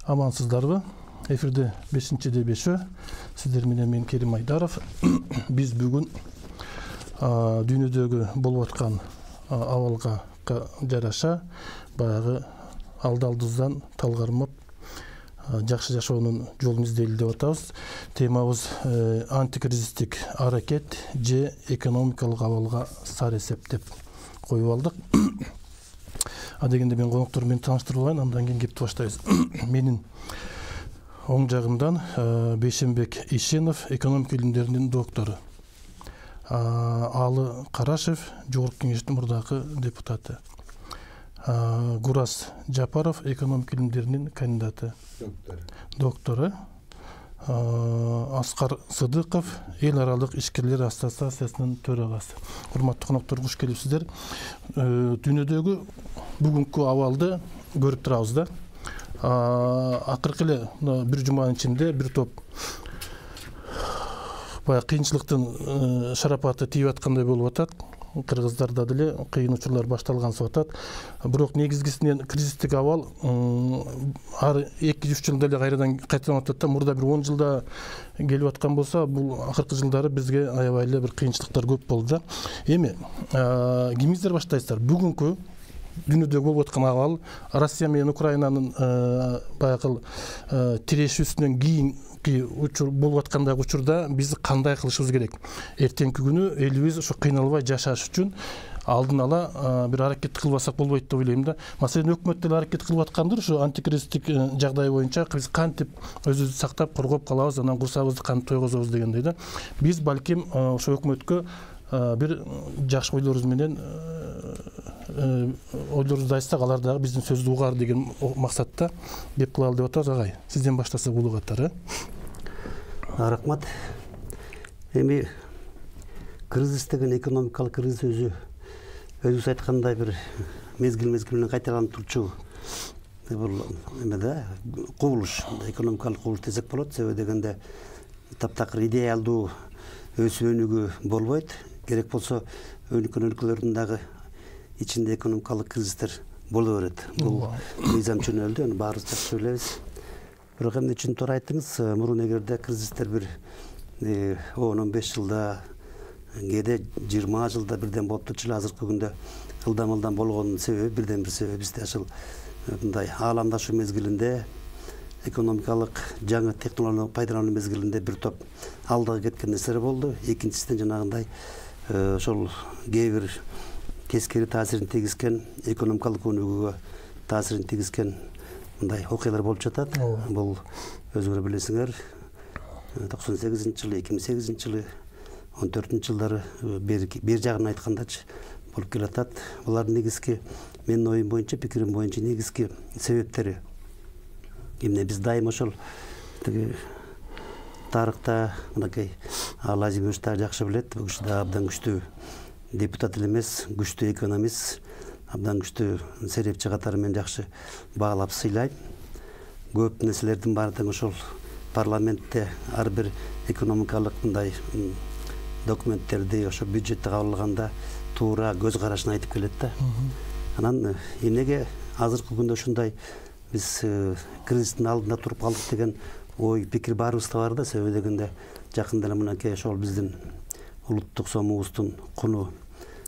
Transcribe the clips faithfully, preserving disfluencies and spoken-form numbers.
Амансыздарбы? Эфирде бешинчи дебешö. Сиздер менен мен Керим Айдаров. Биз бүгүн дүйнөдөгү болуп аткан абалга жараша баягы алды-алдыбыздан талгармап жакшы жашоонун жолун издейли деп атабыз. Темабыз антикризистик аракет же экономикалык абалга сар эсеп деп коюп алдык. А дегенде мен коноктор менен тааныштырып алайын, андан кийин кепти баштайбыз. Менин оң жагымдан Бейшенбек Ишенов, экономика илимдеринин доктору. Алы Карашев, Жогорку Кеңештин мурдакы депутаты. Гурас Жапаров, экономика илимдеринин кандидаты. Доктору. Аскар Сыдыков, Эл аралык ишкерлер ассоциациясынын төрагасы. Урматтуу коноктор, куш келипсиздер. Дүйнөдөгү бүгүнкү абалды көрүп турабыз да. Акыркы эле бир жуманын ичинде бир топ баягы кыйынчылыктын шарапаты тийип аткандай болуп атат. Кыргыздарда деле кыйын учурлар башталгансып атат. Бирок негизгисинен кризистик абал ар эки үч жылда эле кайрадан кайталанып атат да. Мурда бир он жылда келип аткан болсо, бул акыркы жылдары бизге аябай эле бир кыйынчылыктар көп болду да. Эми кимиңиздер баштайсыздар? Бүгүнкү дүйнөдө болуп аткан абал, Россия менен Украинанын баягы тирешүүсүнөн кийинки учур болуп аткандагы учурда биз кандай кылышыбыз керек? Эртеңки күнү элибиз ушу кыйналбай жашаш үчүн алдын ала бир аракет кылбасак болбойт деп ойлойм да. Маселен, өкмөт деле аракет кылып аткандыр, ушу антикризистик жагдай боюнча биз кантип өзүбүздү сактап коргоп калабыз, анан курсагыбызды кантип тойгозобуз дегендей да. Биз балким ошо өкмөткө бир жакшы ойлорубуз менен ойлорубузду айтсак, алар дагы биздин сөздү угар деген максатта кеп кылалы деп атабыз. Агай, сизден баштасак улуу катары. Рахмат. Эми кризис деген экономикалык кризис өзү өзүңүз айткандай бир мезгил мезгил менен кайталанып турчу бул эме да, кубулуш, экономикалык кубулуш десек болот. Себеби дегенде таптакыр идеалдуу өсүү өнүгүү болбойт. Керек болсо өнүккөн өлкөлөрдүн дагы ичинде экономикалык кризистер боло берет. Бул мыйзам чөнөлдү, аны баарыбыз жакшы билебиз. Бирок эмне үчүн туура айттыңыз, мурун эгерде кризистер бир он он беш жылда, кээде жыйырма жылда бирден болуп турчу эле, азыркы күндө ылдам ылдам болгонунун себеби, бирден бир себеби бизде ушул мындай ааламдашуу мезгилинде, экономикалык жаңы технологияларды пайдалануу мезгилинде бир топ алдыга кеткен нерселер болду. Экинчисинен жанагындай ошол кээ бир тескери таасирин тийгизген, экономикалык өнүгүүгө таасирин тийгизген мындай окуялар болуп жатат. Бул өзүңөр билесиңер, токсон сегизинчи жылы, эки миң сегизинчи жылы, он төртүнчү жылдары бир жагын айткандачы болуп келатат. Булардын негизги, менин оюм боюнча, пикирим боюнча, негизги себептери эмне? Биз дайым ошол тиги тарыхта мынакей Лазимович да жакшы билет, бул киши да абдан күчтүү депутат эле эмес, күчтүү экономист, абдан күчтүү серепчи катары мен жакшы баалап сыйлайм. Көп нерселердин баары тең ошол парламентте ар бир экономикалык мындай документтерди, ошо бюджетти кабыл алганда туура көз карашын айтып келет да. Анан эмнеге азыркы күндө ушундай биз кризистин алдында туруп калдык деген ой, пикир баарыбызда бар да. Себеби дегенде жакында эле мынакей ошол биздин улуттук сомубуздун куну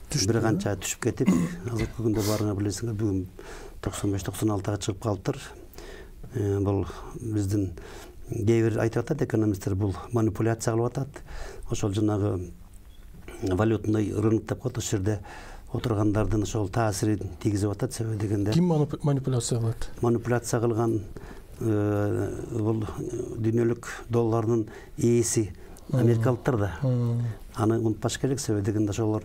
бир канча түшүп кетип, азыркы күндө баарыңар билесиңер, бүгүн токсон беш токсон алтыга чыгып калыптыр. Бул биздин кээ бир айтып атат экономисттер, бул манипуляция кылып атат. Ошол жанагы валютный рынок деп коет, ошол жерде отургандардын ошол таасирин тийгизип атат. Себеби дегенде ким манипуляция кылат? Манипуляция кылган бул дүйнөлүк доллардын ээси америкалыктар да. Аны унутпаш керек. Себеби дегенде ошолор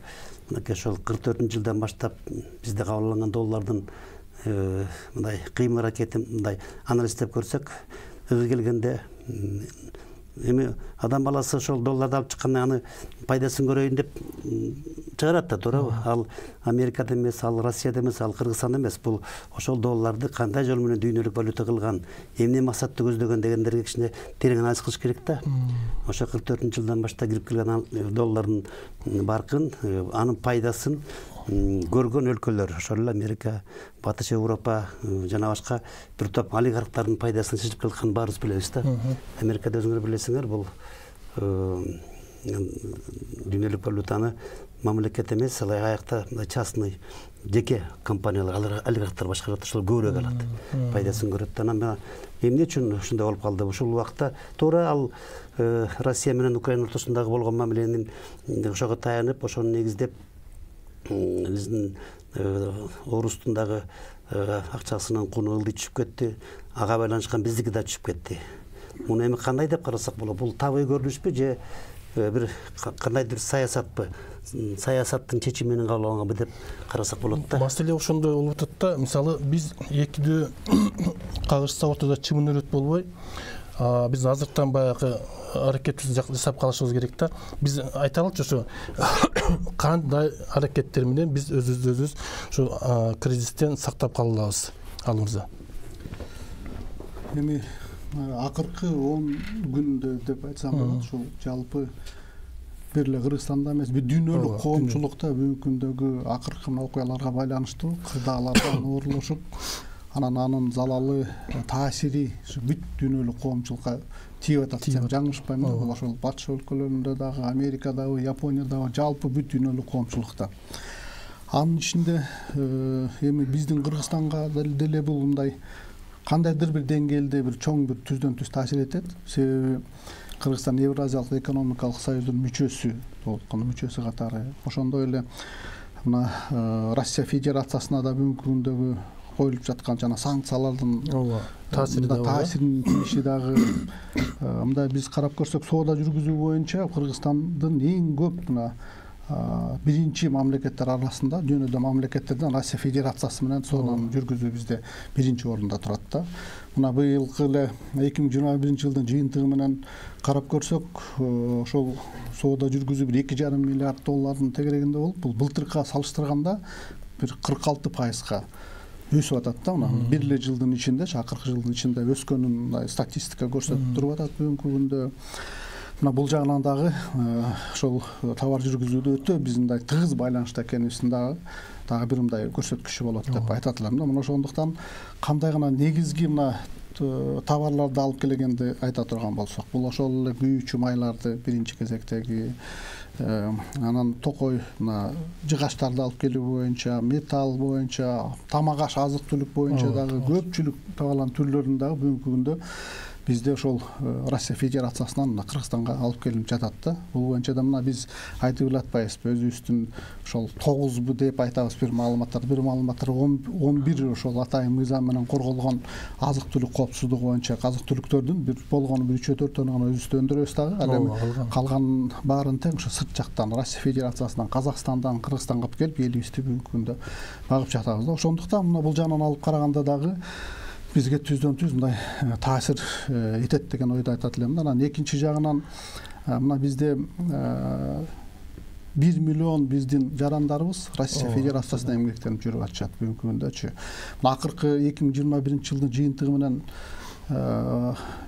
мынакей ошол кырк төртүнчү жылдан баштап бизде кабыл алынган доллардын мындай кыймыл аракетин мындай анализдеп көрсөк, өзү келгенде эми адам баласы ошол долларды алып чыкканда аны пайдасын көрөйүн деп чыгарат да, туурабы? Ал Америкада эмес, ал Россияда эмес, ал Кыргызстанда эмес. Бул ошол долларды кандай жол менен дүйнөлүк валюта кылган, эмне максатты көздөгөн дегендерге кичине терең анализ кылыш керек да. Ошо кырк төртүнчү жылдан баштап кирип келген доллардын баркын, анын пайдасын көргөн өлкөлөр, ошол эле Америка, Батыш Европа жана башка бир топ олигархтардын пайдасын чечип келатканын баарыбыз билебиз да. Америкада өзүңөр билесиңер, бул дүйнөлүк валютаны мамлекет эмес, алай аякта частный жеке компаниялар, олигархтар башкарат, ошол көбүрөөк алат, пайдасын көрөт. Анан эмне үчүн ушундай болуп калды? Ушул убакта туура ал Россия менен Украина ортосундагы болгон мамиленин ошого таянып, ошону негиздеп биздин орустун дагы акчасынын куну ылдый түшүп кетти, ага байланышкан биздики да түшүп кетти. Муну эми кандай деп карасак болот? Бул табый көрүнүшпү же бир кандайдыр саясатпы? Саясаттын чечими менен кабыл алынганбы деп карасак болот да. Маселе ошондой болуп атат да. Мисалы биз экидөө кагышса ортодо чымын өрөт болбой, биз азыртан баягы аракетибизди жасап калышыбыз керек да. Биз айталычы ошо кандай аракеттер менен биз өзүбүздү өзүбүз ушу кризистен сактап кала алабыз, ал мырза. Эми акыркы он күндө деп айтсам болот, ушул жалпы бир эле Кыргызстанда эмес, бүт дүйнөлүк коомчулукта бүгүнкү күндөгү акыркы окуяларга байланыштуу кырдаалардан оорулушуп, анан анын залалы таасири бүт дүйнөлүк коомчулукка тийип атат десем жаңылышпайм. Бул ошол батыш өлкөлөрүндө дагы, Америкадагы, Япониядагы, жалпы бүт дүйнөлүк коомчулукта. Анын ичинде эми биздин Кыргызстанга деле бул мындай кандайдыр бир деңгээлде бир чоң бир түздөн түз таасир этет. Себеби Кыргызстан Евразиялык экономикалык союздун мүчөсү, толкун мүчөсү катары. Ошондой эле мына Россия Федерациясына да бүгүнкү күндөгү коюлуп жаткан жана санкциялардын таасиринин тийиши дагы мындай биз карап көрсөк, соода жүргүзүү боюнча Кыргызстандын эң көп мына биринчи мамлекеттер арасында, дүйнөдө мамлекеттерден Россия Федерациясы менен сооданы жүргүзүү бизде биринчи орунда турат да. Мына быйылкы эле эки миң жыйырма биринчи жылдын жыйынтыгы менен карап көрсөк, ошол соода жүргүзүү бир эки жарым миллиард доллардын тегерегинде болуп, бул былтыркыга салыштырганда бир кырк алты пайызга өсүп атат да. Мына бир эле жылдын ичинде, акыркы жылдын ичинде өскөнүн статистика көрсөтүп туруп атат бүгүнкү күндө. Мына бул жагынан дагы ошол товар жүргүзүүдө өтө биз мындай тыгыз байланышта экенибиздин дагы дагы бир мындай көрсөткүчү болот деп айтат элем да. Мына ошондуктан кандай гана негизги мына товарларды алып келгенди айта турган болсок, бул ошол эле күйүүчү майларды биринчи кезектеги, анан токой мына жыгачтарды алып келүү боюнча, металл боюнча, тамак аш, азык түлүк боюнча дагы көпчүлүк товарлардын түрлөрүн дагы бүгүнкү күндө бизде ошол Россия Федерациясынан Кыргызстанга алып келип жатат да. Бул боюнча да мына биз айтып эле атпайбызбы, өзүбүздүн ошол тогузбу деп айтабыз бир маалыматтар, бир маалыматтар он бир ошол атайын мыйзам менен корголгон азык түлүк коопсуздугу боюнча азык түлүктөрдүн бир болгону бир үчөө төртөөнү гана өзүбүздө өндүрөбүз дагы. Ал эми калган баарын тең ошо сырт жактан, Россия Федерациясынан, Казакстандан Кыргызстанга алып келип, элибизди бүгүнкү күндө багып жатабыз да. Ошондуктан мына бул жагынан алып караганда дагы бизге түздөн түз мындай таасир этет деген ойду айтат элем да. Анан экинчи жагынан мына бизде бир миллион биздин жарандарыбыз Россия Федерациясында эмгектенип жүрүп атышат бүгүнкү күндөчү. Мына акыркы эки миң жыйырма биринчи жылдын жыйынтыгы менен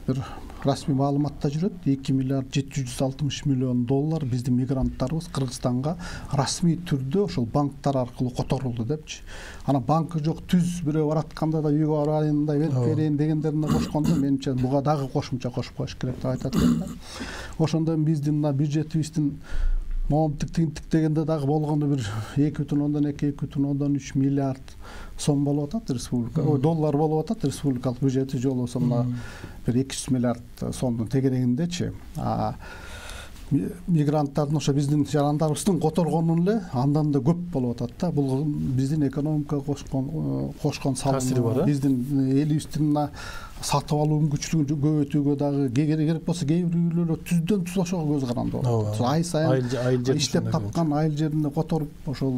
бир расмий маалыматта жүрөт, эки миллиард жети жүз алтымыш миллион доллар биздин мигранттарыбыз Кыргызстанга расмий түрдө ошол банктар аркылуу которулду депчи. Анан банкы жок, түз бирөө баратканда да үйгө барайын да берип берейин дегендерине кошкондо менимче буга дагы кошумча кошуп коюш керек деп айтат элем да. Ошондо биздин мына бюджетибиздин момунтук тигинтик дегенде дагы болгону бир эки бүтүн ондон эки эки бүтүн ондон үч миллиард сом болуп атат республика, ой доллар болуп атат республикалык бюджети жолу болсо мына бир эки жүз миллиард сомдун тегерегиндечи. Мигранттардын ошо биздин жарандарыбыздын которгону эле андан да көп болуп атат да. Бул биздин экономикага кошкон кошкон салымы, биздин элибиздин сатып алуу мүмкүнчүлүгүн көбөйтүүгө дагы керек болсо кээ бир үйлөр түздөн түз ошого көз каранды болот. Ай сайын иштеп тапкан айыл жеринде которуп ошол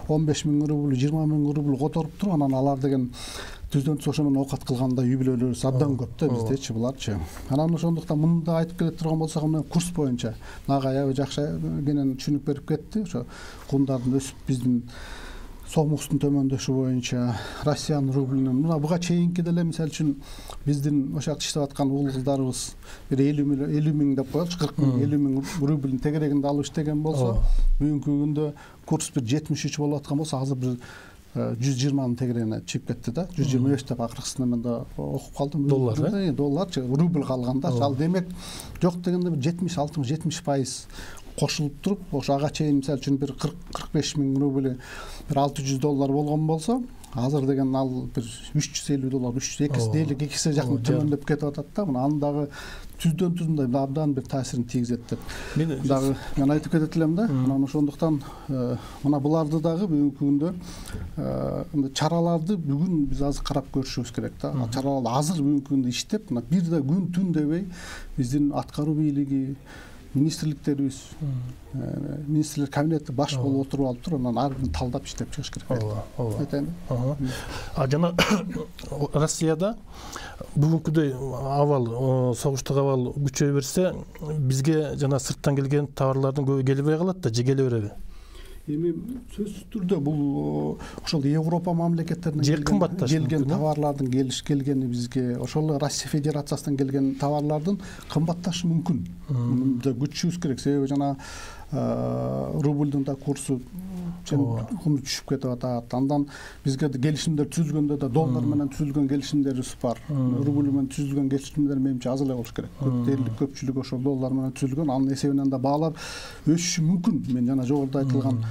он беш миң рубль, жыйырма миң рубль которуп туруп, анан алар деген түздөн түз ошо менен оокат кылганда үй бүлөлөрүбүз абдан көп да биздечи буларчы. Анан ошондуктан мында айтып келе турган болсок, мына курс боюнча нага аябай жакшы кенен түшүнүк берип кетти. Ошо кундардын өсүп биздин сомдуктун төмөндөшү боюнча Россиянын рублинин мына буга чейинки деле мисалы үчүн биздин ошол жакта иштеп аткан угул кыздарыбыз бир элүү миң деп коелучу, кырк миң элүү миң рубльдин тегерегинде алып иштеген болсо, бүгүнкү күндө курс бир жетимиш үч болуп аткан болсо, азыр бир жүз жыйырманын тегерегине чыгып кетти да. жүз жыйырма беш деп акыркысын мен да окуп калдым. Доллар, э? Долларчы, рубль калганда. Ал демек жок дегенде бир жетимиш алтымыш жетимиш пайыз кошулуп туруп, ошо ага чейин мисалы үчүн бир кырк кырк беш миң рубль бир алты жүз доллар болгон болсо, азыр деген ал бир үч жүз элүү доллар, үч жүз эки дээрлик экисе жакын төмөндөп кетип атат да. Мына анын дагы түздөн түз мындай абдан бир таасирин тийгизет деп дагы мен айтып кетет элем да. Мына ошондуктан мына буларды дагы бүгүнкү күндө мындай чараларды бүгүн биз азыр карап көрүшүбүз керек да. Чараларды азыр бүгүнкү күндө иштеп, мына бир да күн түн дебей биздин аткаруу бийлиги, министрликтерибиз, министрлер кабинети баш болуп отуруп алып туруп, анан ар бирин талдап иштеп чыгыш керек. Ооба, ооба. Айтайын. А жана Россияда бүгүнкүдөй абал, согуштук абал күчөй берсе, бизге жана сырттан келген товарлардын көбү келбей калат да, же келе береби? Эми сөзсүз түрдө бул ошол Европа мамлекеттеринен же кымбатташ келген товарлардын келиш келгени бизге, ошол Россия Федерациясынан келген товарлардын кымбатташы мүмкүн. Муну да күтүшүбүз керек, себеби жана рубльдун да курсу куну түшүп кетип атат. Андан бизге келишимдер түзүлгөндө да доллар менен түзүлгөн келишимдерибиз бар. Рубль менен түзүлгөн келишимдер менимче аз эле болуш керек. Дээрлик көпчүлүгү ошол доллар менен түзүлгөн. Анын эсебинен да баалар өсүшү мүмкүн. Мен жана жогоруда айтылган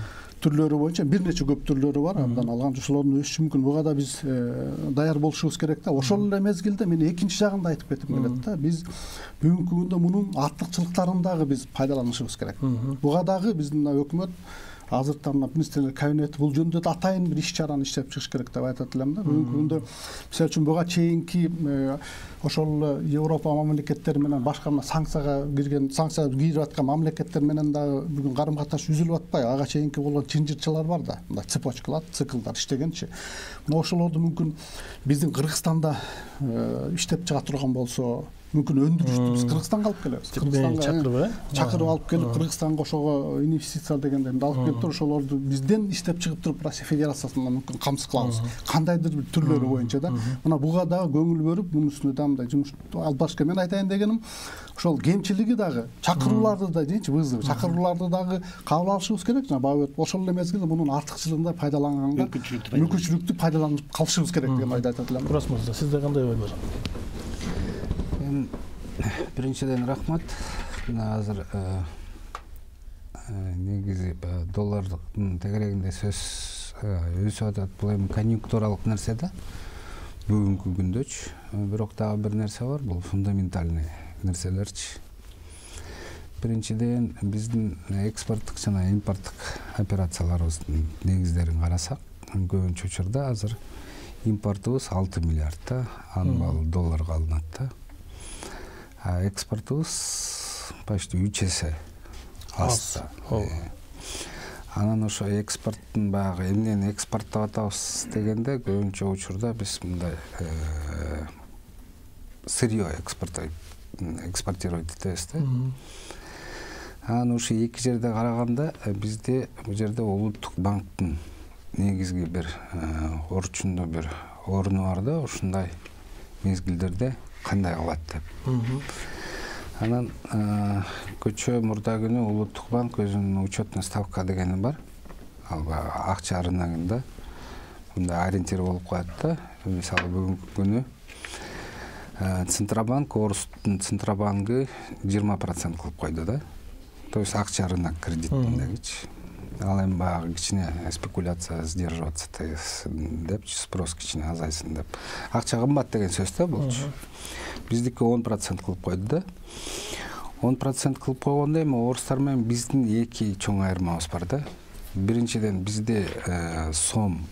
түрлөрү боюнча бир нече көп түрлөрү бар, андан алган ошолордун өсүшү мүмкүн. Буга да биз даяр болушубуз керек да. Ошол эле мезгилде мен экинчи жагын да айтып кетким келет да. Биз бүгүнкү күндө мунун артыкчылыктарын дагы биз пайдаланышыбыз керек. Буга дагы биздин өкмөт азыр мына министрлер кабинети бул жөнүндө да атайын бир иш чараны иштеп чыгыш керек деп айтат элем да. Бүгүнкү күндө мисалы үчүн буга чейинки ошол Европа мамлекеттери менен башка мына санкцияга кирген, санкцияга кирип аткан мамлекеттер менен дагы бүгүн карым катнаш үзүлүп атпайбы? Ага чейинки болгон чынжырчылар бар да, мындай цепочкалар, циклдар иштегенчи. Мына ошолорду мүмкүн биздин Кыргызстанда иштеп чыга турган болсо, мүмкүн өндүрүштү биз Кыргызстанга алып келебиз. Кыргызстанга чакырып, чакырып алып келип, Кыргызстанга ошого инвестиция дегендерди алып келип туруп, ошолорду бизден иштеп чыгып туруп Россия Федерациясынан мүмкүн камсыз кылабыз. Кандайдыр бир түрлөрү боюнча да. Мына буга дагы көңүл бөлүп, мунун үстүнө да мындай жумуш алып барыш керек. Мен айтайын дегеним, ошол кемчилиги дагы чакырууларды да дейчи, вызов, чакырууларды дагы кабыл алышыбыз керек. Жана бабы ошол эле мезгилде мунун артыкчылыгын да пайдаланганга, мүмкүнчүлүктү пайдаланып калышыбыз керек деген ойду айтат элем. Турас мырза, сизде кандай ой бар? Биринчиден рахмат. Мына азыр негизи доллардын тегерегинде сөз өсүп атат. Бул эми конъюнктуралык нерсе да. Бүгүнкү күндөчү. Бирок дагы бир нерсе бар, бул фундаментальный нерселерчи. Биринчиден биздин экспорттук жана импорттук операцияларыбыздын негиздерин карасак, көбүнчө учурда азыр импортубуз алты миллиард да, анын долларга алынат да. А экспортубуз почти үч эсе аз. Анан ошо экспорттун баягы эмнени экспорттоп атабыз дегенде көбүнчө учурда биз мындай сырье экспортировать этебиз да. Анан ошо эки жерде караганда бизде бул жерде улуттук банктын негизги бир орчундуу бир оруну бар да, ушундай мезгилдерде кандай кылат деп. Анан көчө мурда күнү улуттук банк өзүнүн учетный ставка дегени бар. Ал акча рыногунда мындай ориентир болуп коет да. Мисалы бүгүнкү күнү Центробанк, Орустун Центробанкы жыйырма процент кылып койду да. То есть акча рынок кредитиндегичи. Ал эми баягы кичине спекуляция сдерживаться депчи, спрос кичине азайсын деп. Акча кымбат деген сөз да болчу. Биздики он процент кылып койду да. он процент кылып койгондо эми орустар менен биздин эки чоң айырмабыз бар да. Биринчиден бизде сом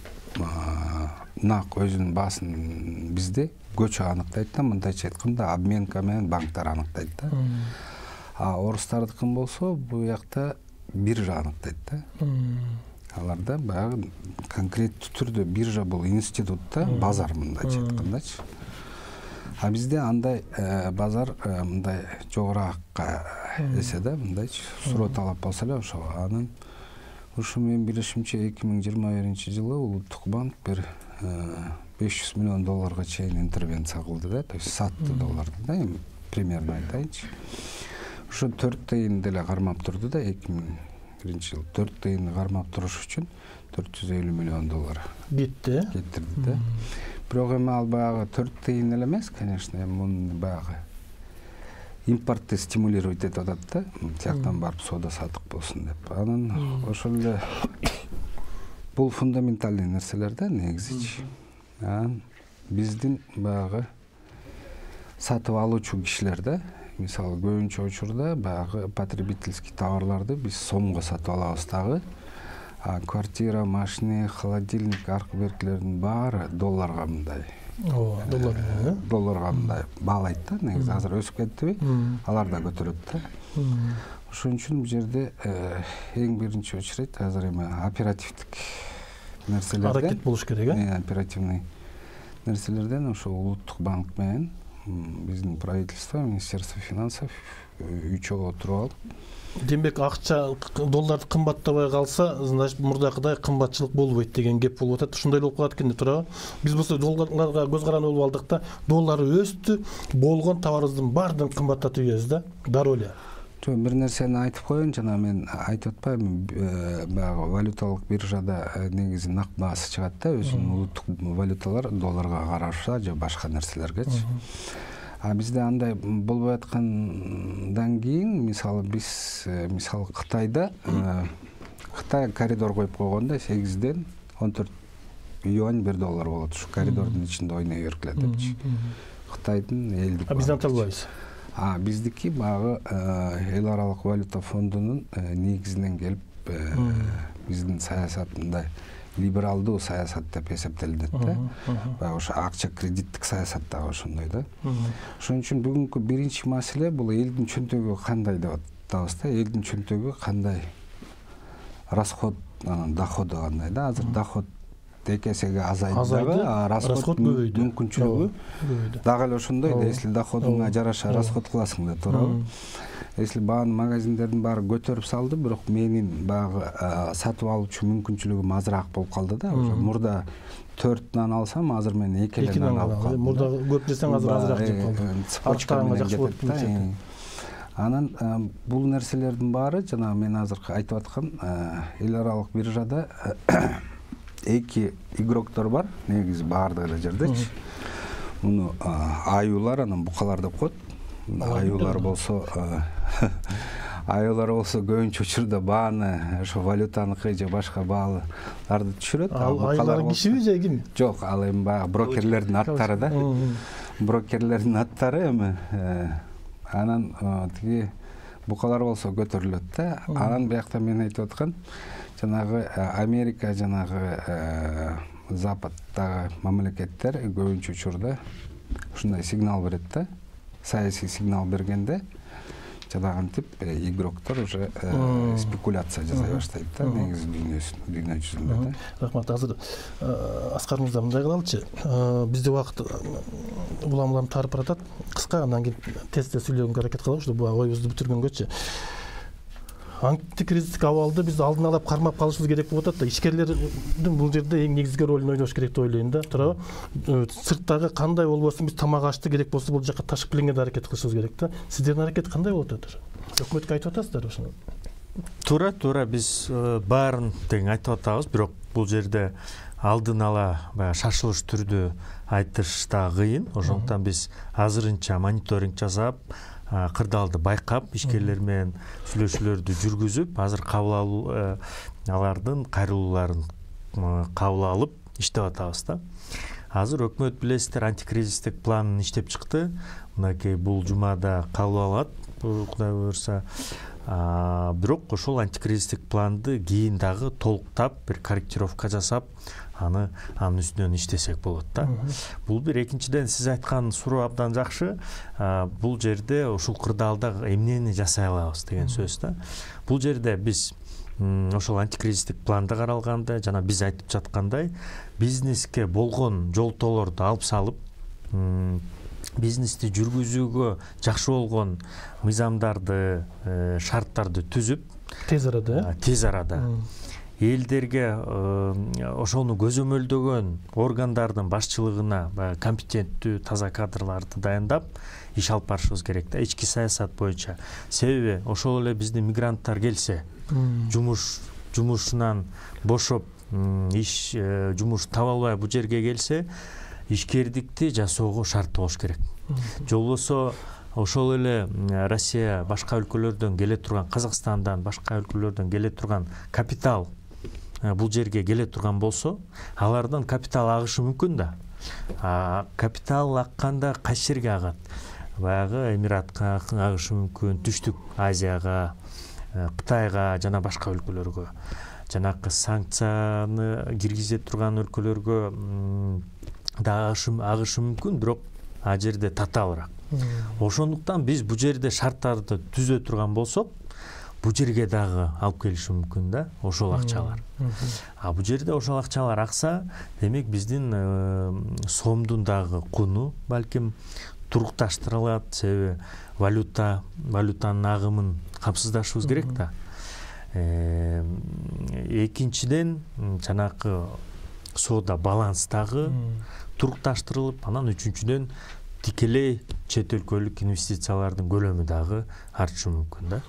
нак өзүнүн баасын бизде көчө аныктайт да, мындайча айтканда обменка менен банктар аныктайт да. А орустардыкын болсо бул жакта биржа аныктайт да. Аларда баягы конкреттүү түрдө биржа бул институт да, базар мындайча айткандачы. А бизде андай базар мындай жогоракка эсе да, мындайчы суроо талап болсо эле ошо анын Ушу менин билишимче эки миң жыйырма биринчи жылы Улуттук банк бир беш жүз миллион долларга чейин интервенция кылды да, то есть сатты долларды да, эми примерно айтайынчы. Ошо төрт тыйын деле кармап турду да, эки миң биринчи жылы төрт тыйынды кармап туруш үчүн төрт жүз элүү миллион доллар кетти. Кетирди да. Бирок эми ал баягы төрт тыйын эле эмес, конечно, эми муну баягы импортты стимулировать этип атат да, тияктан барып соода сатык болсун деп. Анан ошол эле бул фундаментальный нерселер да негизичи. Анан биздин баягы сатып алуучу кишилер да, мисалы көбүнчө учурда баягы потребительский товарларды биз сомго сатып алабыз дагы. А квартира, машина, холодильник, аркы беркилердин баары долларга мындай. Ооба, доллар менен, э? Долларга мындай баалайт да, негизи азыр өсүп кеттиби? Алар да көтөрөт да. Ошон үчүн бул жерде эң биринчи очередь азыр эми оперативдик нерселерден аракет болуш керек, э? Оперативный нерселерден ошо Улуттук банк менен биздин правительство, Министерство финансов үч жолу отуруп алып. Демек, акча долларды кымбаттабай калса, значит мурдакыдай кымбатчылык болбойт деген геп болуп атат. Ушундай болуп калат экен деп турабы? Биз болсо долларга көз каранды болуп алдык да, доллары өстү, болгон товарыбыздын баардыгын кымбаттатып ийбиз да. Дароо эле. Жок, бир нерсени айтып коеюн, жана мен айтып атпаймынбы, баягы валюталык биржада негизи нак баасы чыгат да, өзүнүн улуттук валюталар долларга караша же башка нерселергечи. А бизде андай болбой аткандан кийин, мисалы биз мисалы Кытайда Кытай коридор коюп койгондо сегизден он төрт юань бир доллар болот. Ушу коридордун ичинде ойной бергиле депчи. Кытайдын элдик. А бизден албайбыз. А биздики баягы эл аралык валюта фондунун негизинен келип биздин саясатында либералдуу саясат деп эсептелинет да. Баягы ошо акча кредиттик саясат дагы ошондой да. Ошон үчүн бүгүнкү биринчи маселе бул элдин чөнтөгү кандай деп атабыз да. Элдин чөнтөгү кандай, расход, анан доходу кандай да. Азыр доход эки эсеге азайды дагы, а расход мүмкүнчүлүгү дагы эле ошондой да. Если доходуңа жараша расход кыласың да, туурабы? Если бааны магазиндердин баары көтөрүп салды, бирок менин баягы сатып алуучу мүмкүнчүлүгүм азыраак болуп калды да. Мурда төрт нан алсам, азыр мен эки эле нан алып калдым. Мурда көп жесең азыр азыраак жеп калдым. Цепочка менен кетет да. Анан бул нерселердин баары жана мен азыр айтып аткан эл аралык биржада эки игроктор бар, негизи баардык эле жердечи. Муну аюулар, анан букалар деп коет. Аюулар болсо аюулар болсо көбүнчө учурда бааны ошо валютаныкы же башка бааларды түшүрөт. Аюулар кишиби же ким? Жок, ал эми баягы брокерлердин аттары да. Брокерлердин аттары эми. Анан тиги букалар болсо көтөрүлөт да. Анан биякта мен айтып аткан жанагы Америка, жанагы Западтагы мамлекеттер көбүнчө учурда ушундай сигнал берет да. Саясий сигнал бергенде жанагынтип игроктор уже спекуляция жасай баштайт да, негизи дүйнө жүзүндө да. Рахмат. Азыр Аскар мырза мындай кылалычы. Бизде убакыт улам-улам тарып баратат. Кыска, андан кийин тез-тез сүйлөгөнгө аракет кылабыз, ушул оюбузду бүтүргөнгөчү. Антикризистик абалды биз алдын ала кармап калышыбыз керек болуп атат да. Ишкерлердин бул жерде эң негизги ролун ойнош керек деп ойлойм да. Туурабы? Сырттагы кандай болбосун биз тамак ашты керек болсо бул жака ташып келгенге аракет кылышыбыз керек да. Сиздердин аракет кандай болуп атат? Өкмөткө айтып атасыздар ошону? Туура, туура, биз баарын тең айтып атабыз, бирок бул жерде алдын ала баягы шашылыш түрдө айтыш да кыйын. Ошондуктан биз азырынча мониторинг жасап, кырдаалды байкап, ишкерлер менен сүйлөшүүлөрдү жүргүзүп, азыр кабыл алуу алардын кайрылууларын кабыл алып иштеп атабыз да. Азыр өкмөт билесиздер антикризистик планын иштеп чыкты. Мынакей бул жумада кабыл алат, Кудай буйрса. Бирок ошол антикризистик планды кийин дагы толуктап, бир корректировка жасап, аны анын үстүнөн иштесек болот да. Бул бир. Экинчиден, сиз айткан суроо абдан жакшы. Бул жерде ушул кырдаалда эмнени жасай алабыз деген сөз да. Бул жерде биз ошол антикризистик планда каралганда, жана биз айтып жаткандай, бизнеске болгон жолтоолорду алып салып, бизнести жүргүзүүгө жакшы болгон мыйзамдарды, шарттарды түзүп, тез арада, тез арада элдерге ошону көзөмөлдөгөн органдардын башчылыгына баягы компетенттүү таза кадрларды дайындап иш алып барышыбыз керек да, ички саясат боюнча. Себеби ошол эле биздин мигранттар келсе, жумуш жумушунан бошоп, иш жумуш таба албай бул жерге келсе, ишкердикти жасоого шарт болуш керек. Же болбосо ошол эле Россия башка өлкөлөрдөн келе турган, Казакстандан башка өлкөлөрдөн келе турган капитал бул жерге келе турган болсо, алардан капитал агышы мүмкүн да. А капитал акканда кайсы жерге агат? Баягы Эмиратка агышы мүмкүн, Түштүк Азияга, Кытайга жана башка өлкөлөргө. Жанакы санкцияны киргизе турган өлкөлөргө да агышы мүмкүн, бирок а жерде татаалыраак. Ошондуктан биз бул жерде шарттарды түзө турган болсок, бул жерге дагы алып келиши мүмкүн да, ошол акчалар. А бул жерде ошол акчалар акса, демек биздин сомдун дагы куну балким турукташтырылат, себеби валюта, валютанын агымын камсыздашыбыз керек да. Экинчиден, жанакы соода баланс дагы турукташтырылып, анан үчүнчүдөн тикелей чет өлкөлүк инвестициялардын көлөмү дагы артышы мүмкүн да.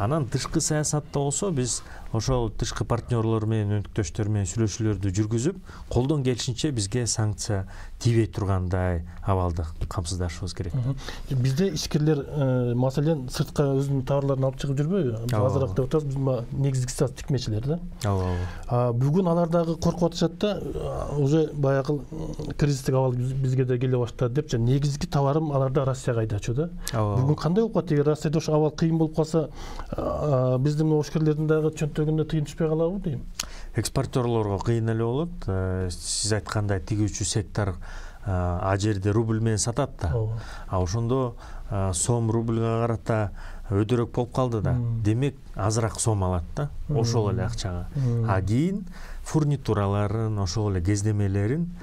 Анан тышкы саясатта болсо, биз ошол тышкы партнерлор менен, өнөктөштөр менен сүйлөшүүлөрдү жүргүзүп, колдон келишинче бизге санкция тийбей тургандай абалды камсыздашыбыз керек. Бизде ишкерлер, маселен, сыртка өзүнүн товарларын алып чыгып жүрбөйбү? Азыраак деп атабыз, биз негизгиси тикмечилер да. Ооба. Бүгүн алар дагы коркуп атышат да, уже баягы кризистик абал бизге да келе баштады деп, жана негизги товарым аларда Россияга айдачу да. Бүгүн кандай болуп калат? Эгер Россияда ошо абал кыйын болуп калса, биздин ишкерлердин дагы чөнтөгүндө тыйын түшпөй калабы дейм. Экспортерлорго кыйын эле болот. Сиз айткандай тигүүчү сектор а жерде рубль менен сатат да. А ошондо сом рубльга карата өйдөрөөк болуп калды да. Демек азыраак сом алат да, ошол эле акчага. А кийин фурнитураларын, ошол эле кездемелерин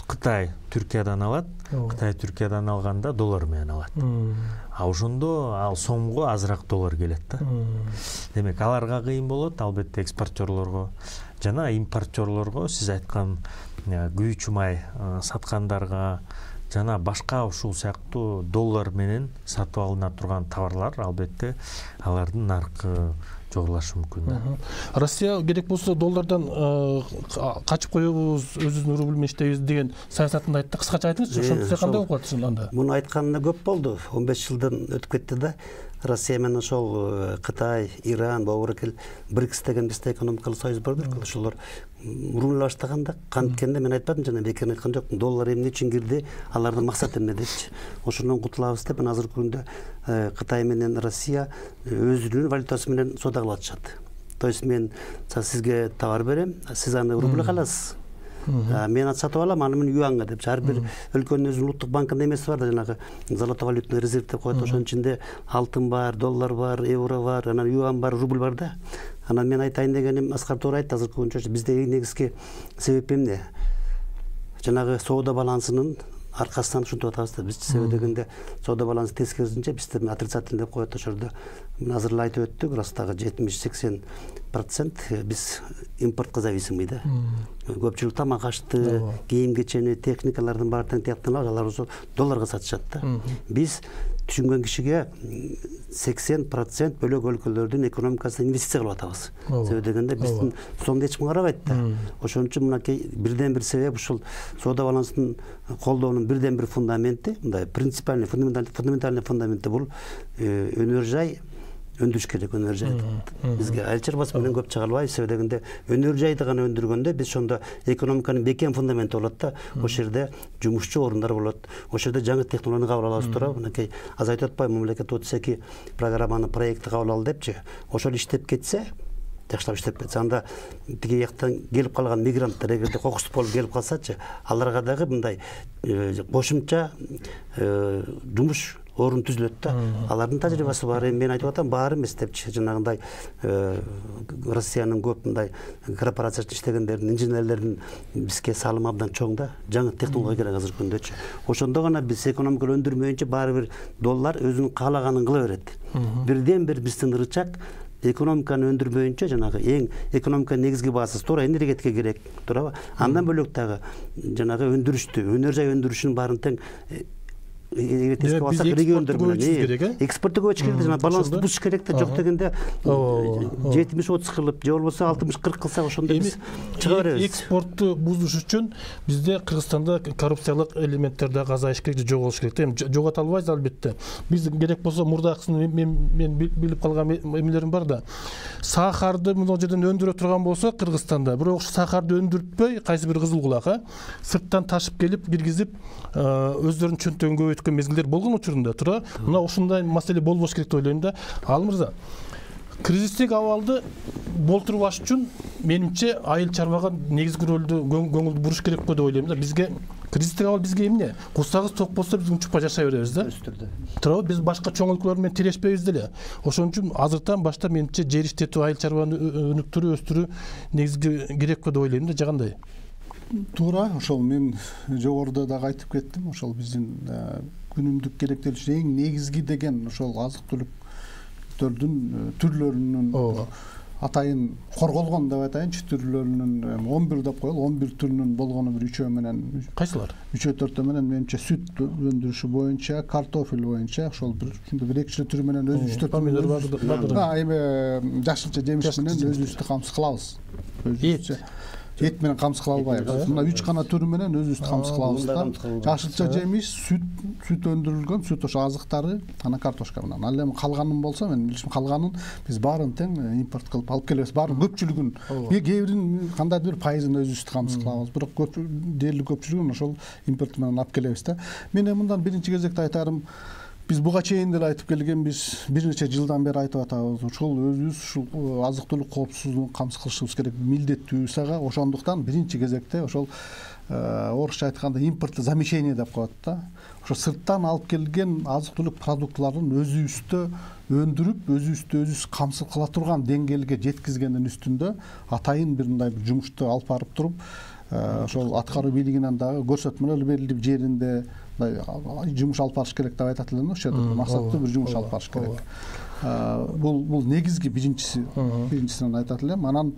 Кытай Түркиядан алат. Кытай Түркиядан алганда доллар менен алат. А ошондо ал сомго азыраак доллар келет да. Демек аларга кыйын болот, албетте экспортерлорго жана импортерлорго, сиз айткан күйүүчү май саткандарга жана башка ушул сыяктуу доллар менен сатып алына турган товарлар, албетте алардын наркы жогорулашы мүмкүн да. Россия керек болсо доллардан качып коебуз, өзүбүздүн рубль менен иштейбиз деген саясатын айтты. Кыскача айтыңызчы, ошондо кандай болуп калат анда? Муну айтканына көп болду. он беш жылдан өтүп кетти да. Россия менен ошол Кытай, Иран, Бобуркел, БРИКС деген бизде экономикалык союз бар-дыр. Ошолор рубль баштаганда, канткенде мен айтпадым, жана бекер айткан жокмун. Доллар эмне үчүн кирди, алардын максаты эмне депчи. Ошондон кутулабыз деп, азыркы күндө Кытай менен Россия өзүнүн валютасы менен соода кылып атышат. То есть мен сизге товар берем, сиз аны рубль каласыз. Мен сатып алам, аны мен юанга деп. Ар бир өлкөнүн өзүнүн улуттук банкында эмеси бар да, жанагы золотовалютный резерв деп коет. Ошонун ичинде алтын бар, доллар бар, евро бар, анан юан бар, рубль бар да. Анан мен айтайын дегеним, Аскар туура айтты, азыркы күнчө бизде эң негизги себеп эмне? Жанагы соода балансынын аркасынан ушинтип атабыз да. Биз себеп дегенде соода балансы тескерисинче бизде отрицательный деп коет. Ошолордо мен азыр эле айтып өттүк, растагы жетимиш сексен процент биз импортко зависимый да. Көпчүлүк тамак ашты, кийим кечени, техникалардын баары тең тиякталып, алар ошо долларга сатышат да. Биз түшүнгөн кишиге сексен процент бөлөк өлкөлөрдүн экономикасына инвестиция кылып атабыз. Себеп дегенде биздин сомду эч ким карабайт да. Ошон үчүн мынакей бирден бир себеп ушул соода балансын колдоонун бирден бир фундаменти, мындай принципиальный, фундаментальный фундаменти бул өнөр жай өндүрүш керек, өнөр жай. Бизге айыл чарбасы менен көп чыга албайбыз, себеп дегенде өнөр жайды гана өндүргөндө биз ошондо экономиканын бекем фундаменти болот да. Ошол жерде жумушчу орундар болот. Ошол жерде жаңы технологияны кабыл алабыз туурабы? Мынакей аз айтып атпайбы, мамлекет отуз эки программаны, проектти кабыл алды депчи. Ошол иштеп кетсе, жакшылап иштеп кетсе, анда тиги жактан келип калган мигранттар эгерде кокустук болуп келип калсачы, аларга дагы мындай кошумча жумуш орун түзүлөт да. Алардын тажрыйбасы бар. Мен айтып атам, баары эмес депчи. Жанагындай Россиянын көп мындай корпорацияда иштегендердин, инженерлердин бизге салымы абдан чоң да. Жаңы технология керек азыркы күндөчү. Ошондо гана биз экономиканы өндүрмөйүнчө баары бир доллар өзүнүн каалаганын кыла берет. Бирден бир биздин рычаг экономиканы өндүрмөйүнчө жанагы эң экономиканын негизги баасысы туура энергетика керек, туурабы? Андан бөлөк дагы жанагы өндүрүштү, өнөр жай өндүрүшүнүн баарын тең эске алсак региондор менен экспортту көбөйтүш керек, жана балансты бузуш керек да, жок дегенде жетимиш отуз кылып, же болбосо алтымыш кырк кылсак ошондо биз чыга беребиз. Экспортту бузуш үчүн бизде Кыргызстанда коррупциялык элементтер дагы азайыш керек, же жоголуш керек. Эми жогото албайбыз албетте. Биз керек болсо мурдакысын мен мен билип калган эмелерим бар да. Сахарды мына жерден өндүрө турган болсо Кыргызстанда, бирок ошо сахарды өндүртпөй, кайсы бир кызыл кулак, сырттан ташып келип киргизип, өздөрүнүн чөнтөгүн көбөйткөн мезгилдер болгон учурунда туура. Мына ушундай маселе болбош керек деп ойлойм да. Ал мырза, кризистик абалды болтурбаш үчүн менимче айыл чарбага негизги ролду, көңүлдү буруш керек го деп ойлойм да. Бизге кризистик абал бизге эмне? Курсагыбыз ток болсо биз унчукпай жашай беребиз да. Туурабы? Биз башка чоң өлкөлөр менен тирешпейбиз деле. Ошон үчүн азыртан баштап менимче жер иштетүү, айыл чарбаны өнүктүрүү, өстүрүү негизги керек го деп ойлойм да. Жагандай. Туура, ошол мен жогоруда дагы айтып кеттим. Ошол биздин күнүмдүк керектелиш эң негизги деген ошол азык-түлүктөрдүн түрлөрүнүн атайын корголгон деп айтайынчы, түрлөрүнүн он бир деп коелу, он бир түрүнүн болгону бир үчөө менен. Кайсылар? үчөө төртөө менен менимче сүт өндүрүшү боюнча, картофель боюнча ошол бир ушундай бир экичи түрү менен өзүбүздү помидор бар. Эми жашылча жемиш менен өзүбүздү камсыз кылабыз. Өзүбүзчө эт менен камсыз кыла албайбыз. Мына үч гана түрү менен өзүбүздү камсыз кылабыз да. Жашылча жемиш, сүт, сүт өндүрүлгөн, сүт ошо азыктары, анан картошка менен. Ал эми калганын болсо, мен билишим калганын биз баарын тең импорт кылып алып келебиз. Баарын көпчүлүгүн, кээ бирин кандайдыр бир пайызын өзүбүздү камсыз кылабыз. Бирок көп дээрлик көпчүлүгүн ошол импорт менен алып келебиз да. Мен эми мындан биринчи кезекте айтарым, биз буга чейин деле айтып келгенбиз, бир нече жылдан бери айтып атабыз. Ушул өзүбүз ушул азык-түлүк коопсуздугун камсыз кылышыбыз керек, милдеттүүбүз ага. Ошондуктан биринчи кезекте ошол орусча айтканда импортозамещение деп коет да. Ошо сырттан алып келген азык-түлүк продуктларын өзүбүздө өндүрүп, өзүбүздү өзүбүз камсыз кыла турган деңгээлге жеткизгендин үстүндө атайын бир мындай бир жумушту алып барып туруп, ошол аткаруу бийлигинен дагы көрсөтмөлөр берилип, жеринде жумуш алып барыш керек деп айтат элем. Ошо максаттуу бир жумуш алып барыш керек. Бул бул негизги биринчиси, биринчисинен айтат элем. Анан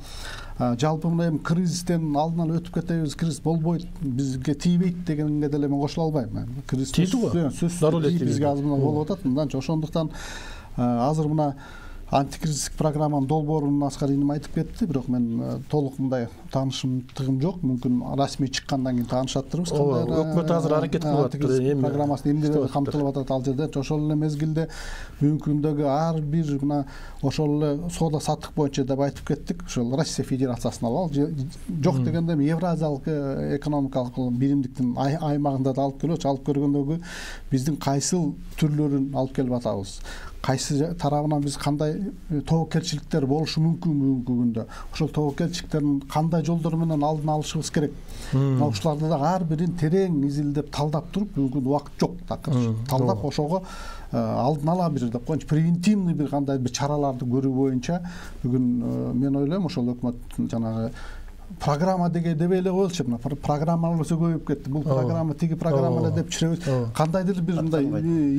жалпы мына эми кризистен алдын ала өтүп кетебиз, кризис болбойт, бизге тийбейт дегенге деле мен кошула албайм. Кризис сөзсүз бизге аз мына болуп атат. Мынданча ошондуктан азыр мына антикризистик программанын долбоорун Аскар иним айтып кетти, бирок мен толук мындай таанышымдыгым жок. Мүмкүн расмий чыккандан кийин таанышаттырбыз. Кандай өкмөт азыр аракет кылып атат. Эми программасы эмнелер камтылып атат ал жерде. Ошол эле мезгилде бүгүнкү күндөгү ар бир мына ошол эле соода саттык боюнча деп айтып кеттик. Ошол Россия Федерациясын алалы. Жок дегенде Евразиялык экономикалык биримдиктин аймагында да алып келип, алып көргөндөгү биздин кайсыл түрлөрүн алып келип атабыз. Кайсы тарабынан биз кандай тобокелчиликтер болушу мүмкүн бүгүнкү күндө. Ошол тобокелчиликтердин кандай жолдор менен алдын алышыбыз керек. Мына ушуларды да ар бирин терең изилдеп, талдап туруп, бүгүнкү убакыт жок такыр. Талдап ошого алдын ала бир деп коеюнчу превентивный бир кандай бир чараларды көрүү боюнча бүгүн мен ойлойм ошол өкмөттүн жанагы программа деген дебей эле коелучу. Мына программалар өсө көбөйүп кетти. Бул программа, тиги программа эле деп чүрөбүз. Кандайдыр бир мындай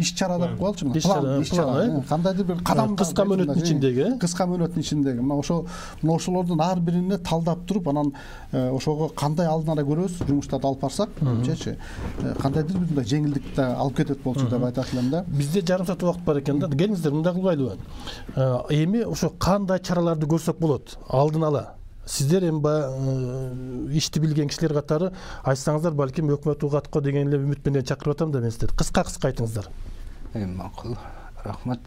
иш-чара деп коелучу. План, иш-чара, кандайдыр бир кадам, кыска мөөнөттүн ичиндеги, кыска мөөнөттүн ичиндеги. Мына ошо мына ошолордун ар бирине талдап туруп, анан ошого кандай алдын ала көрөбүз, жумуштарды алып барсак, менимчечи кандайдыр бир мындай жеңилдикти алып кетет болчу деп айтат элем да. Бизде жарым саат убакыт бар экен да. Келиңиздер, мындай кылбайлыбы? Эми ошо кандай чараларды көрсөк болот алдын ала? Сиздер эми баягы ишти билген кишилер катары айтсаңыздар, балким өкмөт угатко деген эле үмүт менен чакырып атам да мен сиздерди. Кыска-кыска айтыңыздар. Эми макул. Рахмат.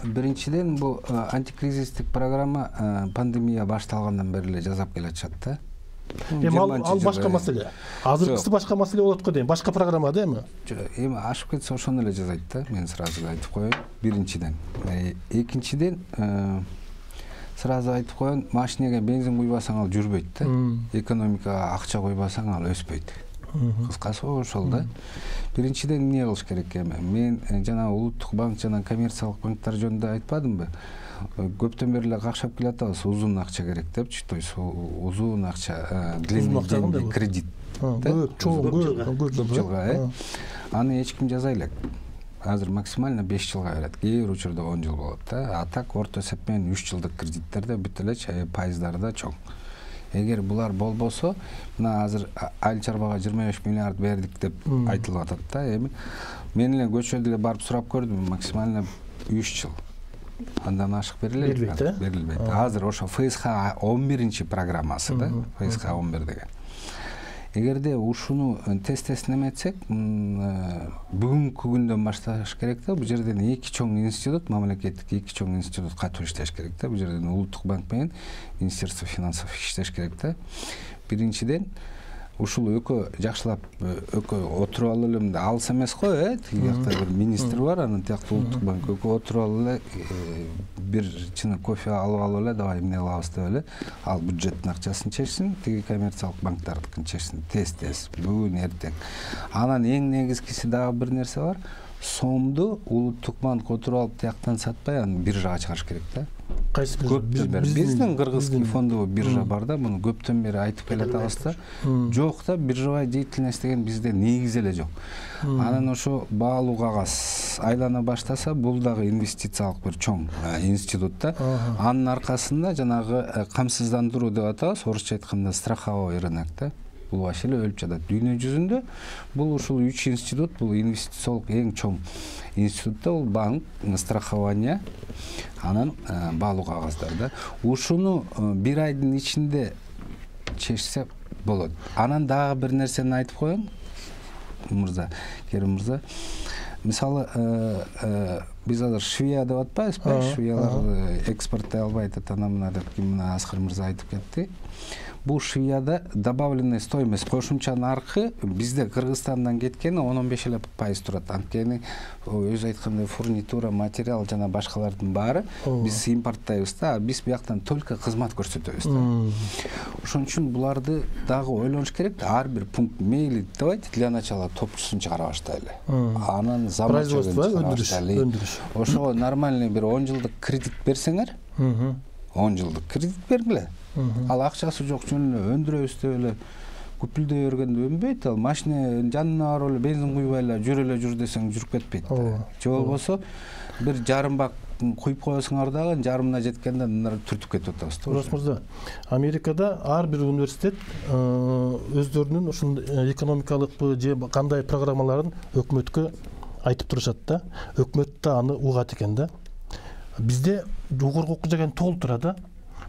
Биринчиден, бул антикризистик программа пандемия башталгандан бери эле жасап келатышат да. Эми ал башка маселе. Азыркысы башка маселе болот го дейм. Башка программа да эми. Эми ашып кетсе ошону эле жасайт да. Мен сразу айтып коеюн. Биринчиден. Экинчиден, сразу айтып коеюн, машинеге бензин куйбасаң ал жүрбөйт да. Экономикага акча койбасаң ал өспөйт. Кыскасы ошол да. Биринчиден эмне кылыш керек эми? Мен жана Улуттук банк жана коммерциялык банктар жөнүндө айтпадымбы? Көптөн бери эле какшап келатабыз, узун акча керек депчи, то есть узун акча, длинный кредит. Көп, чоң, көп жылга, э. Аны эч ким жаза элек. азыр максимально беш жылга берет, кээ бир учурда он жыл болот да. А так орто эсеп менен үч жылдык кредиттерде бүт эле пайыздары да чоң. Эгер булар болбосо, мына азыр айыл чарбага жыйырма беш миллиард бердик деп айтылып атат да. Эми мен эле көчөдө эле барып сурап көрдүм, максимально үч жыл. Андан ашык берилет, берилбейт. Берилбейт. Азыр ошо эф эс ха он биринчи программасы да, эф эс ха он бир деген. Эгерде ушуну тез-тез эметсек, бүгүнкү күндөн башташ керек да. Бул жерден эки чоң институт, мамлекеттик эки чоң институт катуу иштеш керек да. Бул жерден Улуттук банк менен Министерство финансов иштеш керек да. Биринчиден ушул экөө жакшылап экөө отуруп алып эле, мындай алыс эмес го, э? Тиги жакта бир министр бар, анан тиякта Улуттук банк экөө отуруп алып эле бир чыны кофе алып алып эле, давай эмне кылабыз деп эле, ал бюджеттин акчасын чечсин, тиги коммерциялык банктардыкын чечсин, тез-тез, бүгүн эртең. Анан эң негизгиси дагы бир нерсе бар. Сомду Улуттук банк отуруп алып тияктан сатпай, аны биржага чыгарыш керек да. Кайсы Көптөн бери биздин кыргызский фондовый биржа бар да, муну көптөн бери айтып келатабыз да. Жок да, биржевая деятельность деген бизде негизи эле жок. Анан ошо баалуу кагаз айлана баштаса, бул дагы инвестициялык бир чоң институт да. Анын аркасында жанагы камсыздандыруу деп атабыз, орусча айтканда страховой рынок да. Бул вообще эле өлүп жатат. Дүйнө жүзүндө бул ушул үч институт, бул инвестициялык эң чоң институт да, бул банк, страхование, анан баалуу кагаздар да. Ушуну бир айдын ичинде чечсе болот. Анан дагы бир нерсени айтып коеюн, мырза, Керим мырза. Мисалы, биз азыр Швея деп атпайбызбы? Швеялар экспорттой албайт, ана мына деп мына Аскар мырза айтып кетти. Бул Швеяда добавленная стоимость, кошумча наркы бизде Кыргызстандан кеткени он он беш эле пайыз турат. Анткени өзү айткандай фурнитура, материал жана башкалардын баары биз импорттойбуз да, биз бияктан только кызмат көрсөтөбүз да. Ошон үчүн буларды дагы ойлонуш керек да. Ар бир пункт мейли давайте для начала топчусун чыгара баштайлы. Анан заманча өндүрүш. Ошого нормальный бир он жылдык кредит берсеңер, он жылдык кредит бергиле. Ал акчасы жок жөн эле өндүрөбүз деп эле күпүлдөй бергенде өнбөйт. Ал машина жанына барып эле бензин куйбай эле жүр эле жүр десең жүрүп кетпейт. Же болбосо бир жарым бак куюп коесуңар дагы жарымына жеткенде мына түртүп кетип атабыз. Урас мырза, Америкада ар бир университет өздөрүнүн ушундай экономикалык же кандай программаларын өкмөткө айтып турушат да. Өкмөт да аны угат экен да. Бизде жогорку окуу деген толтура да.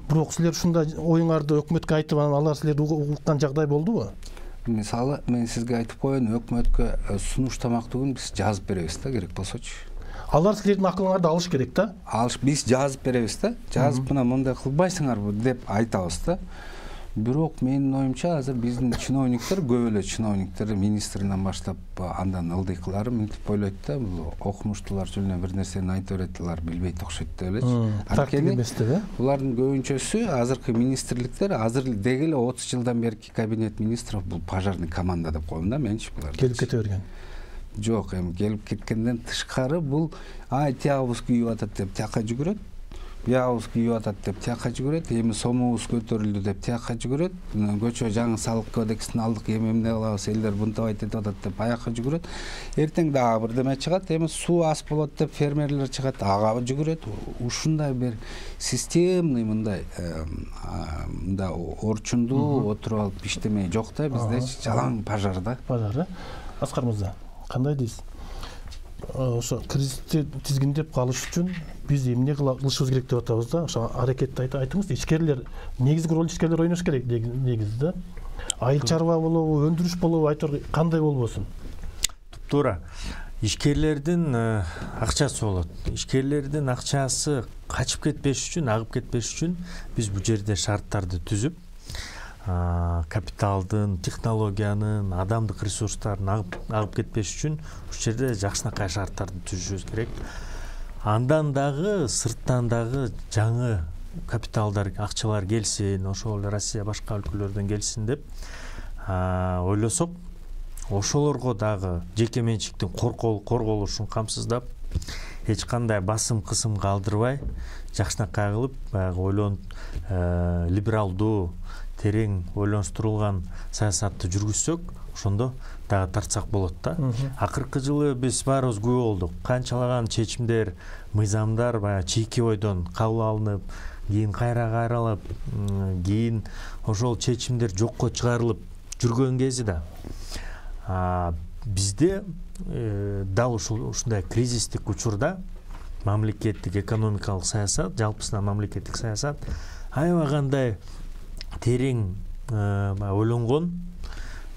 Бирок силер ушундай оюңарды өкмөткө айтып, анан алар силерди уккан жагдай болдубу? Мисалы, мен сизге айтып коеюн, өкмөткө сунуш тамактыгын биз жазып беребиз да, керек болсочу. Алар силердин акылыңарды алыш керек да. Алыш, биз жазып беребиз да. Жазып мына мындай кылбайсыңарбы деп айтабыз да. Бирок менин оюмча азыр биздин чиновниктер, көп эле чиновниктер министринен баштап андан ылдыйкылары мынтип ойлойт да, бул окумуштуулар жөн эле бир нерсени айтып берет, алар билбейт окшойт деп элечи. Анткени булардын көбүнчөсү азыркы министрликтер азыр деги эле отуз жылдан берки кабинет министров бул пожарный команда деп коем да менчи булар. Келип кете берген. Жок, эми келип кеткенден тышкары бул ай тиягыбыз күйүп атат деп тияка жүгүрөт. Биябыз күйүп атат деп тияка жүгүрөт, эми сомубуз көтөрүлдү деп тияка жүгүрөт. Көчө жаңы салык кодексин алдык, эми эмне кылабыз, элдер бунтабайт этип атат деп аяка жүгүрөт. Эртең дагы бир деме чыгат, эми суу аз болот деп фермерлер чыгат, ага жүгүрөт. Ушундай бир системный мындай мындай орчундуу отуруп алып иштемей жок да, бизде жалаң пожар да. Пожар. Аскар мырза, кандай дейсиз? Ошо кризисти тизгиндеп калыш үчүн биз эмне кылышыбыз керек деп атабыз да. Ошо аракетти айтыңыз. Ишкерлер, негизги роль ишкерлер ойнош керек негизи да. Айыл чарба болобу, өндүрүш болобу, айтор кандай болбосун? Туура. Ишкерлердин акчасы болот. Ишкерлердин акчасы качып кетпеш үчүн, агып кетпеш үчүн биз бул жерде шарттарды түзүп, капиталдын, технологиянын, адамдык ресурстардын агып, агып кетпеш үчүн ушул жерде жакшынакай шарттарды түзүшүбүз керек. Андан дагы сырттан дагы жаңы капиталдар, акчалар келсин, ошол Россия башка өлкөлөрдөн келсин деп ойлосок, ошолорго дагы жеке менчиктин корголушун камсыздап, эч кандай басым кысым калтырбай жакшынакай кылып баягы ойлонуп либералдуу терең ойлонуштурулган саясатты жүргүзсөк ошондо дагы тартсак болот да. Акыркы жылы биз баарыбыз күбө болдук. Канчалаган чечимдер, мыйзамдар баягы чийки бойдон кабыл алынып, кийин кайра кайралып, кийин ошол чечимдер жокко чыгарылып жүргөн кези да. Бизде дал ушундай кризистик учурда мамлекеттик экономикалык саясат, жалпысынан мамлекеттик саясат аябай кандай терең ойлонгон,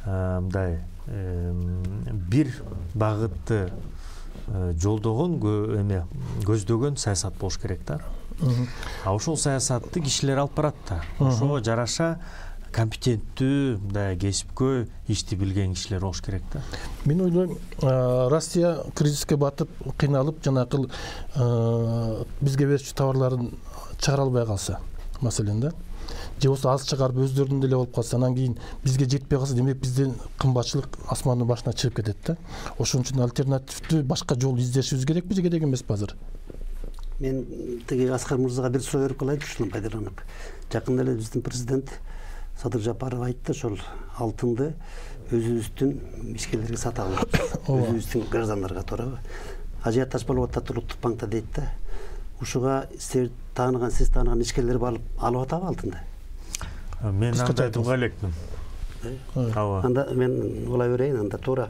мындай бир багытты жолдогон, эме көздөгөн саясат болуш керек да. А ошол саясатты кишилер алып барат да. Ошого жараша компетенттүү, мындай кесипкөй ишти билген кишилер болуш керек да. Мен ойлойм, Россия кризиске батып, кыйналып, жанакыл бизге берчү товарларын чыгара албай калса, маселен да. Же болсо аз чыгарып өздөрүнүн деле болуп калса, анан кийин бизге жетпей калса, демек бизден кымбатчылык асмандын башына чыгып кетет да. Ошон үчүн альтернативдүү башка жол издешибиз керекпи же керек эмеспи азыр? Мен тиги Аскар мырзага бир суроо берип калайынчы ушундан пайдаланып. Жакында эле биздин президент Садыр Жапаров айтты, ошол алтынды өзүбүздүн ишкерлерге сатабыз, өзүбүздүн граждандарга, туурабы? Ажиотаж болуп атат Улуттук банкта дейт да. Ушуга сиз тааныган, сиз тааныган ишкерлер барып алып атабы алтынды? Мен анда айтууга элекмин. Ооба. Анда мен улай берейин, анда туура.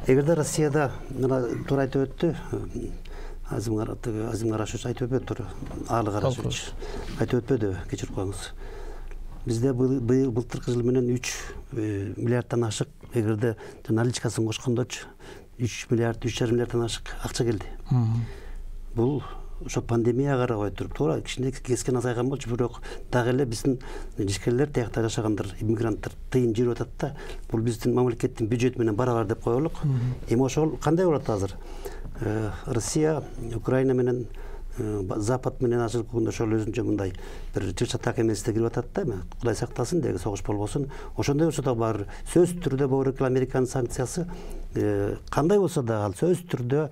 Эгерде Россияда мына туура айтып өттү, Азим Карашевич айтып өтпөдү, туура. Алы Карашевич айтып өтпөдү, кечирип коюңуз. Бизде быйыл былтыркы жыл менен үч миллиардтан ашык, эгерде наличкасын кошкондочу үч миллиард, үч жарым миллиардтан ашык акча келди. Бул ошо пандемияга карабай туруп, туура кичине кескен азайган болчу, бирок дагы эле биздин ишкерлер, тиякта жашагандар, иммигранттар тыйын жиберип атат да. Бул биздин мамлекеттин бюджети менен барабар деп коелук. Эми ошол кандай болот азыр? Россия, Украина менен Запад менен ажыркыгында ошол өзүнчө мындай бир чыр-чатак эместе кирип атат да, эми Кудай сактасын, деги согуш болбосун. Ошондой болсо да бар сөзсүз түрдө бул Американын санкциясы кандай болсо да ал сөзсүз түрдө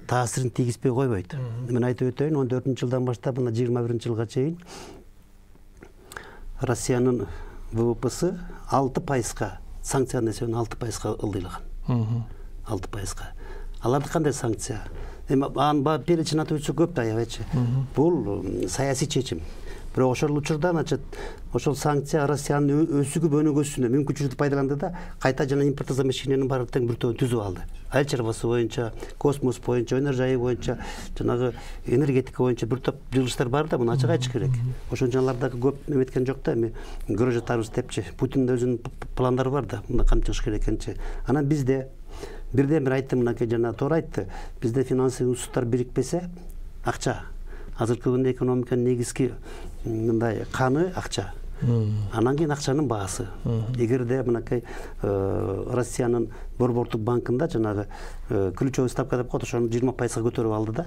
таасирин тийгизбей койбойт. Мен айтып өтөйүн, он төртүнчү жылдан баштап мына жыйырма биринчи жылга чейин Россиянын ВВПсы алты пайызга, санкциянын эсебинен алты пайызга ылдыйлаган. алты пайызга. Аларды кандай санкция? Эми анын перечин атып өтсө көп да, аябайчы. Бул саясий чечим. Бирок ошол учурда, значит, ошол санкция Россиянын өсүгүп өнүгүүсүнө мүмкүнчүлүктү пайдаланды да, кайта жана импортозамещениянын баарын тең бир тобун түзүп алды. Айыл чарбасы боюнча, космос боюнча, өнөр жайы боюнча, жанагы энергетика боюнча бир топ жылыштар бар да, муну ачык айтыш керек. Ошон үчүн алардагы көп неметкен жок да, эми көрө жатарбыз депчи. Путиндин өзүнүн пландары бар да, мында кантип чыгыш керек экенчи. Анан бизде бирден бир айттым, мынакей жана туура айтты. Бизде финансылык институттар бирикпесе, акча. Азыркы күндө экономиканын негизги мындай каны акча. Анан кийин акчанын баасы. Эгерде мынакей Россиянын Борбордук банкында жанагы ключевой ставка деп коет, ошону жыйырма пайызга көтөрүп алды да.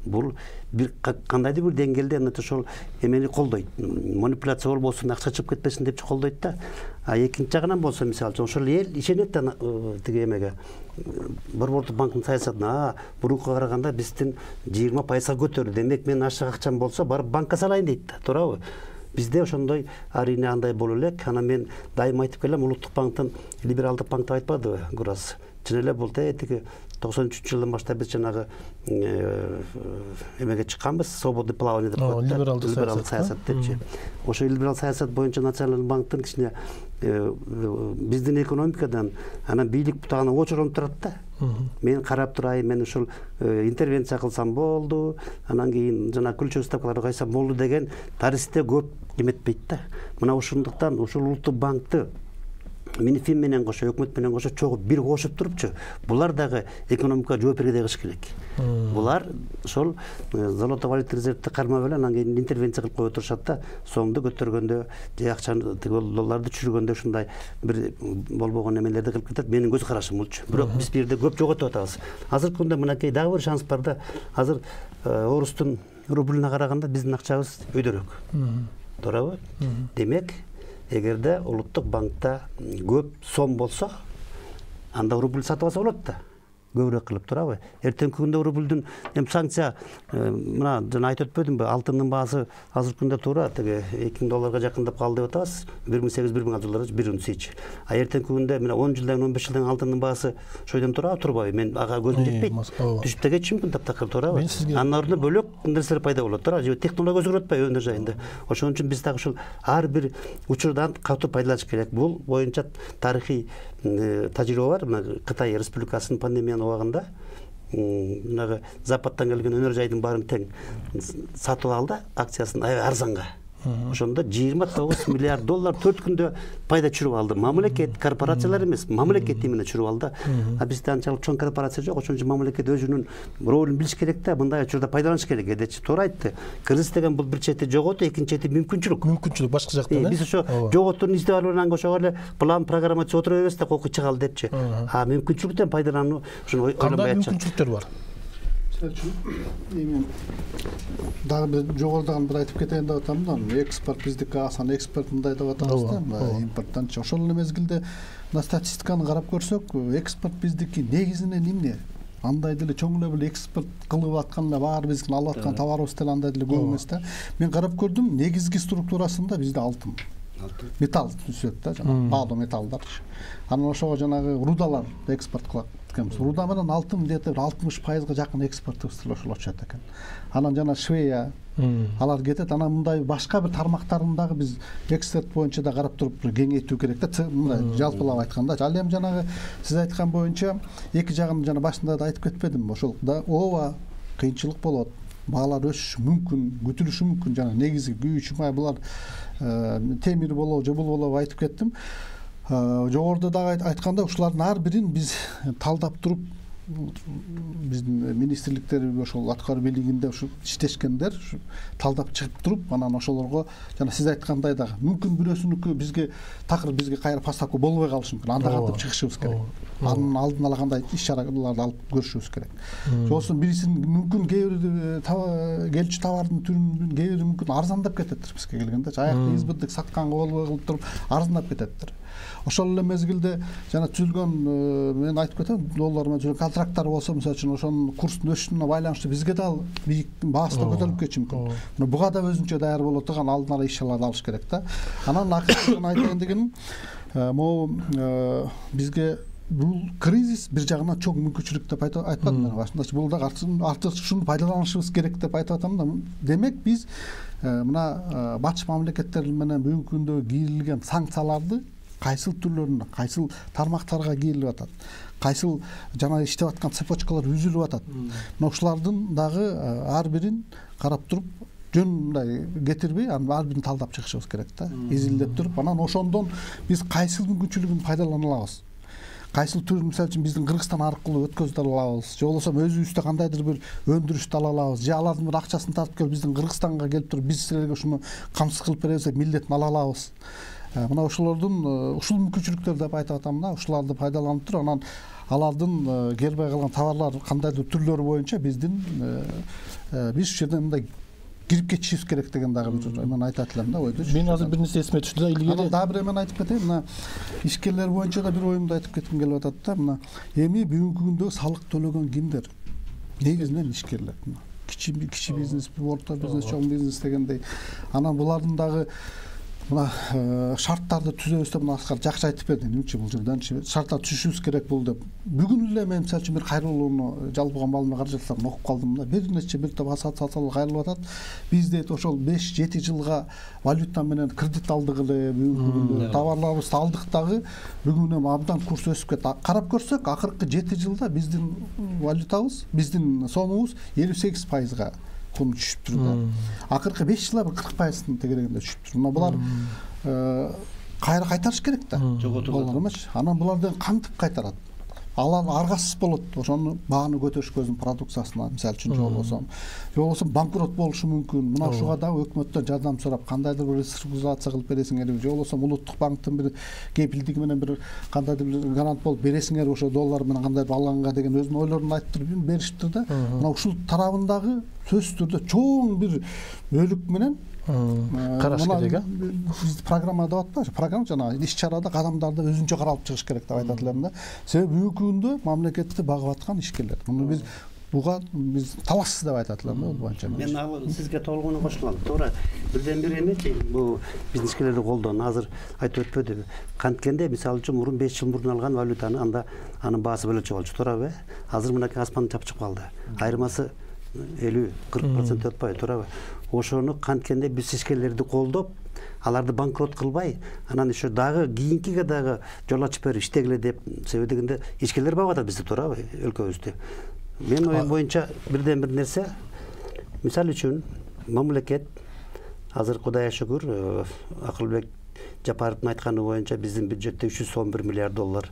Бул бир кандайдыр бир деңгээлде ошол эмени колдойт. Манипуляция болбосун, акча чыгып кетпесин депчи колдойт да. А экинчи жагынан болсо, мисалы үчүн ошол эл ишенет да тиги эмеге. Борбордук банктын саясатына, бурункуга караганда биздин жыйырма пайызга көтөрдү. Демек мен ашык акчам болсо барып банкка салайын дейт да, туурабы? Бизде ошондой арийне андай боло элек. Анан мен дайыма айтып келем, Улуттук банктын либералдык банк деп айтпадыбы, Гурас? Чын эле бул тиги токсон үчүнчү жылдан баштап биз жанагы эмеге чыкканбыз, свободный плавание деп коет, либералдык саясат депчи. Ошо либерал саясат боюнча Националдык банктын кичине биздин экономикадан анан бийлик бутагына очоронуп турат да. Мен карап турайын, мен ушул интервенция кылсам болду, анан кийин жана ключевой ставкаларды койсом болду деген тарихте көп эметпейт да. Мына ошондуктан ушул Улуттук банкты Минфин менен кошо, өкмөт менен кошо чогуу бир кошуп турупчу, булар дагы экономикага жооп берге кылыш керек. Булар ошол золото валюта резервди кармап эле анан кийин интервенция кылып кое турушат да, сомду көтөргөндө же акчаны долларды түшүргөндө ушундай бир болбогон эмелерди кылып кетет. Менин көз карашым болчу. Бирок биз бул жерде көп жоготуп атабыз. Азыркы күндө мынакей дагы бир шанс бар да. Азыр орустун рублуна караганда биздин акчабыз өйдөрөөк. Туурабы? Демек, эгерде Улуттук банкта көп сом болсо, анда рубль сатып алса болот да. көбүрөөк кылып турабы? Эртеңки күндө рубльдүн эми санкция мына жана айтып өтпөдүмбү, алтындын баасы азыркы күндө туура тиги эки миң долларга жакындап калды деп атабыз. бир миң сегиз жүз бир миң доллар бир унциячы. А эртеңки күндө мына он жылдан он беш жылдан алтындын баасы ошойдон турабы, турбайбы? Мен ага көзүм жетпейт. Түшүп да кетиши мүмкүн таптакыр, туурабы? Анын ордуна бөлөк нерселер пайда болот, туура? Технология өзгөрүп атпайбы өнөр жайында? Ошон үчүн биз дагы ушул ар бир учурдан катуу пайдаланыш керек. Бул боюнча тарыхый тажрыйба бар. Мына Кытай Республикасынын пандемиянын убагында мынагы Западтан келген өнөр жайдын баарын тең сатып алды, акциясын аябай арзанга. Ошондо жыйырма тогуз миллиард доллар төрт күндө пайда чүрүп алды. Мамлекет, корпорациялар эмес, мамлекет именно чүрүп алды. А бизде анчалык чоң корпорация жок, ошон үчүн мамлекет өзүнүн ролун билиш керек да, мындай учурда пайдаланыш керек. Эдечи туура айтты. Кризис деген бул бир чети жоготуу, экинчи чети мүмкүнчүлүк. Мүмкүнчүлүк башка жактан. Биз ошо жоготууну издеп алып анан ошого эле план программа түзүп отура беребиз да, кокку чыгалы депчи. А мүмкүнчүлүктөн пайдалануу ушуну ойлонбой атчы. Кандай мүмкүнчүлүктөр бар? Эми дагы бир жогорудагы бир айтып кетейин деп атам да, экспорт биздики асан экспорт мындай деп атабыз да, импорттанчы. Ошол эле мезгилде мына статистиканы карап көрсөк, экспорт биздики негизинен эмне? Андай деле чоң эле бир экспорт кылып аткан эле баары биздин алып аткан товарыбыз деле андай деле көп эмес да. Мен карап көрдүм, негизги структурасында бизде алтын. Металл түсөт да, жана баалуу металлдар. Анан ошого жанагы рудалар экспорт кылат. Руда менен алтын где-то алтымыш пайызга жакын экспортубуз ошолочу экен. Анан жана Швея алар кетет. Анан мындай башка бир тармактарын дагы биз экспорт боюнча да карап туруп кеңейтүү керек да. Мындай жалпылап айтканда, ал эми жанагы сиз айткан боюнча эки жагын жана башында да айтып кетпедимби? Ошол да ооба кыйынчылык болот. Баалар өсүшү мүмкүн, күтүлүшү мүмкүн. Жана негизи күйүүчү май булар темир болобу же бул болобу айтып кеттим. Жогоруда дагы айтканда ушулардын ар бирин биз талдап туруп биздин министрликтер ошол аткаруу бийлигинде ушу иштешкендер талдап чыгып туруп, анан ошолорго жана сиз айткандай дагы мүмкүн бирөөсүнүкү бизге такыр бизге кайра поставка болбой калышы мүмкүн. Анда кантип чыгышыбыз керек. Анын алдын ала кандай иш чараларды алып көрүшүбүз керек. Жоксо бирисин мүмкүн кээ бир келчү товардын түрүнүн кээ бири мүмкүн арзандап кететтир бизге келгенде. Аякта избытык сатканга болбой кылып туруп арзандап кететтир. Ошол эле мезгилде жана түзүлгөн мен айтып кетем, доллар менен түзүлгөн контракттар болсо, мисалы үчүн ошонун курстун өсүшүнө байланыштуу бизге да бийик баасы да көтөрүлүп кетиши мүмкүн. Мына буга да өзүнчө даяр боло турган алдын ала иш чараларды алыш керек да. Анан акыркы айтайын дегеним, могу бизге бул кризис бир жагынан чоң мүмкүнчүлүк деп айтпадым мен башында. Бул да артык ушуну пайдаланышыбыз керек деп айтып атам да. Демек биз мына батыш мамлекеттер менен бүгүнкү күндө кийилген санкцияларды кайсыл түрлөрүнө, кайсыл тармактарга кийилип атат, кайсыл жана иштеп аткан цепочкалар үзүлүп атат. Мына ушулардын дагы ар бирин карап туруп, жөн мындай кетирбей, анын ар бирин талдап чыгышыбыз керек да. Изилдеп туруп, анан ошондон биз кайсыл мүмкүнчүлүгүн пайдалана алабыз. Кайсыл түр, мисалы үчүн биздин Кыргызстан аркылуу өткөзүп алабыз, же болбосо өзүбүздө кандайдыр бир өндүрүштү ала алабыз, же алардын бир акчасын тартып келип биздин Кыргызстанга келип туруп биз силерге ушуну камсыз кылып беребиз деп милдетин ала алабыз. Мына ошолордун ушул мүмкүнчүлүктөр деп айтып атам да, ушуларды пайдаланып туруп, анан алардын келбей калган товарлар кандайдыр түрлөрү боюнча биздин биз ушул жерден мындай кирип кетишибиз керек деген дагы бир мен айтат элем да, ойду. Мен азыр бир нерсе эсиме түштү да, илгери дагы бир эмен айтып кетейин. Мына ишкерлер боюнча да бир оюмду айтып кетким келип атат да. Мына эми бүгүнкү күндө салык төлөгөн кимдер? Негизинен ишкерлер. Кичи кичи бизнес, орто бизнес, чоң бизнес дегендей. Анан булардын дагы мына шарттарды түзөбүз деп мына Аскар жакшы айтып берди. Эмнечи бул жерден шарттар түзүшүбүз керек бул деп. Бүгүн эле мен мисалы үчүн бир кайрылууну жалпыга маалымат каражаттарын окуп калдым да. Бир нече бир топ ассоциациялар кайрылып атат. Биз дейт ошол беш жети жылга валюта менен кредит алдык эле, бүгүнкү товарларыбызды алдык дагы бүгүн эми абдан курс өсүп кетти. Карап көрсөк, акыркы жети жылда биздин валютабыз, биздин сомубуз элүү сегиз пайызга кум түшүп тур да. Акыркы беш жылда бир кырк пайыздын тегерегинде түшүп тур. Мына булар кайра кайтарыш керек да. Жоготулган эмес. Анан булардан кантип кайтарат? Алар аргасыз болот. Ошону бааны көтөрүшкө өзүнүн продукциясына, мисалы үчүн жол болсо, же болбосо банкрот болушу мүмкүн. Мына ушуга дагы өкмөттөн жардам сурап, кандайдыр бир реструктуризация кылып бересиңерби, же болбосо улуттук банктын бир кепилдиги менен бир кандайдыр бир гарант болуп бересиңерби, ошо доллар менен кандайдыр алганга деген өзүнүн ойлорун айтып туруп беришиптир да. Мына ушул тарабындагы сөзсүз түрдө чоң бир бөлүк менен караш керек. Биз программада атпайбы? Программа жанагы иш чарада кадамдарды өзүнчө каралып чыгыш керек деп айтат элем да. Себеби бүгүнкү күндө мамлекетти багып аткан ишкерлер. Муну биз буга биз талашсыз деп айтат элем да, бул боюнча. Мен ал сизге толугуна кошулам. Туура бирден бир эмечи, бул биздин ишкерлерди колдон азыр айтып өтпөдүбү? Канткенде мисалы үчүн мурун беш жыл мурун алган валютаны анда анын баасы бөлөчө болчу, туурабы? Азыр мынакей аспан чапчып калды. Айырмасы элүү кырк процент өтпөйт, туурабы? Ошону канткенде биз ишкерлерди колдоп, аларды банкрот кылбай, анан еще дагы кийинкиге дагы жол ачып берип иштегиле деп себеби дегенде ишкерлер багып атат бизди, туурабы, өлкөбүздү. Мен оюм боюнча бирден бир нерсе, мисалы үчүн мамлекет азыр Кудайга шүгүр, Акылбек Жапаровдун айтканы боюнча биздин бюджетте үч жүз он бир миллиард доллар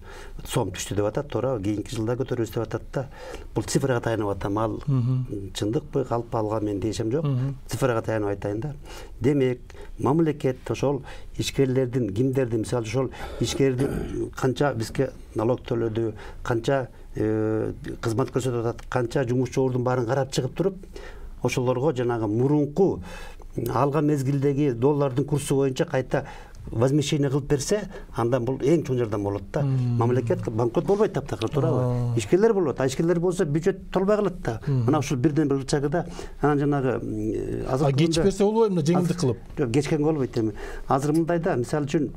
сом түштү деп атат, туурабы? Кийинки жылда көтөрөбүз деп атат да. Бул цифрага таянып атам, ал чындыкпы, калппы алга мен дешем жок. Цифрага таянып айтайын да. Демек, мамлекет ошол ишкерлердин, кимдерди, мисалы ошол ишкердин канча бизге налог төлөдү, канча кызмат көрсөтүп атат, канча жумушчулардын баарын карап чыгып туруп, ошолорго жанагы мурунку алган мезгилдеги доллардын курсу боюнча кайта возмещение кылып берсе, андан бул эң чоң жардам болот да. Мамлекет банкрот болбойт таптакыр, туурабы? Ишкерлер болот, а ишкерлер болсо бюджет толбой калат да. Мына ушул бирден бир ычагыда анан жанагы азыр кеч берсе болбойбу, мына жеңилдик кылып? Жок, кечкенге болбойт эми. Азыр мындайда, мисалы үчүн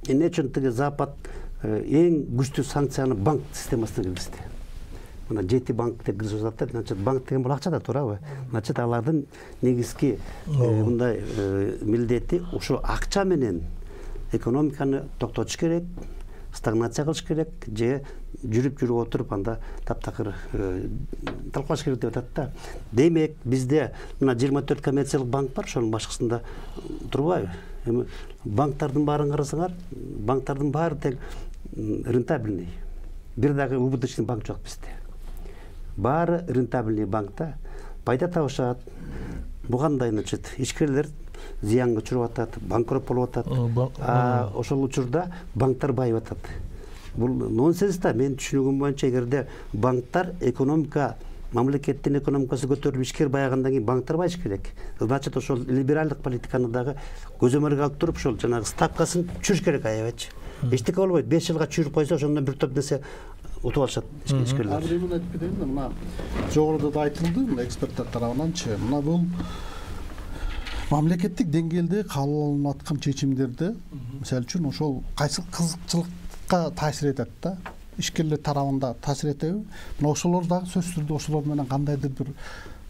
эмне үчүн тиги Запад эң күчтүү санкцияны банк системасына киргизди. Мына жети банкте киргизип атат, значит банк деген бул акча да, туурабы? Значит алардын негизги мындай милдети ушул акча менен экономиканы токтотуш керек, стагнация кылыш керек, же жүрүп жүрүп отуруп анда таптакыр талкуулаш керек деп атат да. Демек бизде мына жыйырма төрт коммерциялык банк бар, ошонун башкысында турбайбы? Эми банктардын баарын карасаңар, банктардын баары тең рентабельный. Бир дагы убыточный банк жок бизде. Баары рентабельный банкта пайда табышат. Бугандай, значит, ишкерлер зыянга чыгып атат, банкрот болуп атат. А ошол учурда банктар байып атат. Бул нонсенс да. Мен түшүнүгүм боюнча, эгерде банктар экономика, мамлекеттин экономикасы көтөрүлүп ишкер байыгандан кийин банктар байыш керек. Значит, ошол либералдык политиканы дагы көзөмөлгө алып туруп, ошол жанагы ставкасын түшүрүш керек аябайчы. Эчтеке болбойт. беш жылга чүйүрүп койсо, ошондон бир топ нерсе утуп алышат ишкерлер. Азыр эмне айтып кетейин да, мына жогоруда да айтылды, мына эксперттер тарабынанчы. Мына бул мамлекеттик деңгээлде кабыл алынып аткан чечимдерди, мисалы үчүн ошол кайсы кызыкчылыкка таасир этет да. Ишкерлер тарабында таасир этеби? Мына ошолор дагы сөзсүз түрдө ошолор менен кандайдыр бир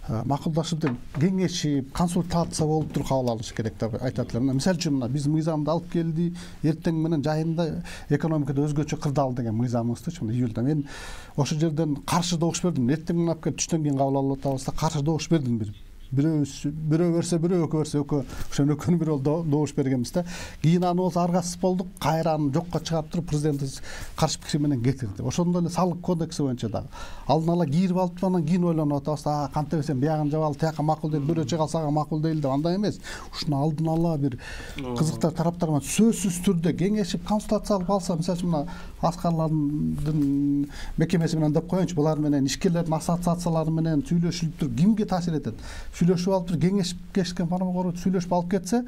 макулдашып, кеңешип, консультация болуп туруп кабыл алыш керек деп айтат элем. Мисалы үчүн мына биз мыйзамды алып келди, эртең менен жайында экономикада өзгөчө кырдаал деген мыйзамыбызды мына июлда мен ошол жерден каршы добуш бердим. Эртең менен алып келип түштөн кийин кабыл алып атабыз да, каршы добуш бердим бир. Бирөө бирөө берсе бирөө, экөө берсе экөө, ошон экөөнү бирөө добуш бергенбиз да. Кийин аны болсо аргасыз болдук, кайра аны жокко чыгарып туруп президент каршы пикир менен кетирди. Ошондой эле салык кодекси боюнча дагы алдын ала кийирип алып анан кийин ойлонуп атабыз, а кантип эсем биягын жабалы, тияка макул дейт, бирөө чыгалса ага макул дейт деп, андай эмес. Ушуну алдын ала бир кызыктар тараптар менен сөзсүз түрдө кеңешип, консультация алып алса, мисалы үчүн мына аскарлардын мекемеси менен деп коеюнчу, булар менен ишкерлердин ассоциациялары менен сүйлөшүлүп туруп кимге таасир этет? Сүйлөшүп алып туруп кеңешип кешкен формага сүйлөшүп алып кетсе,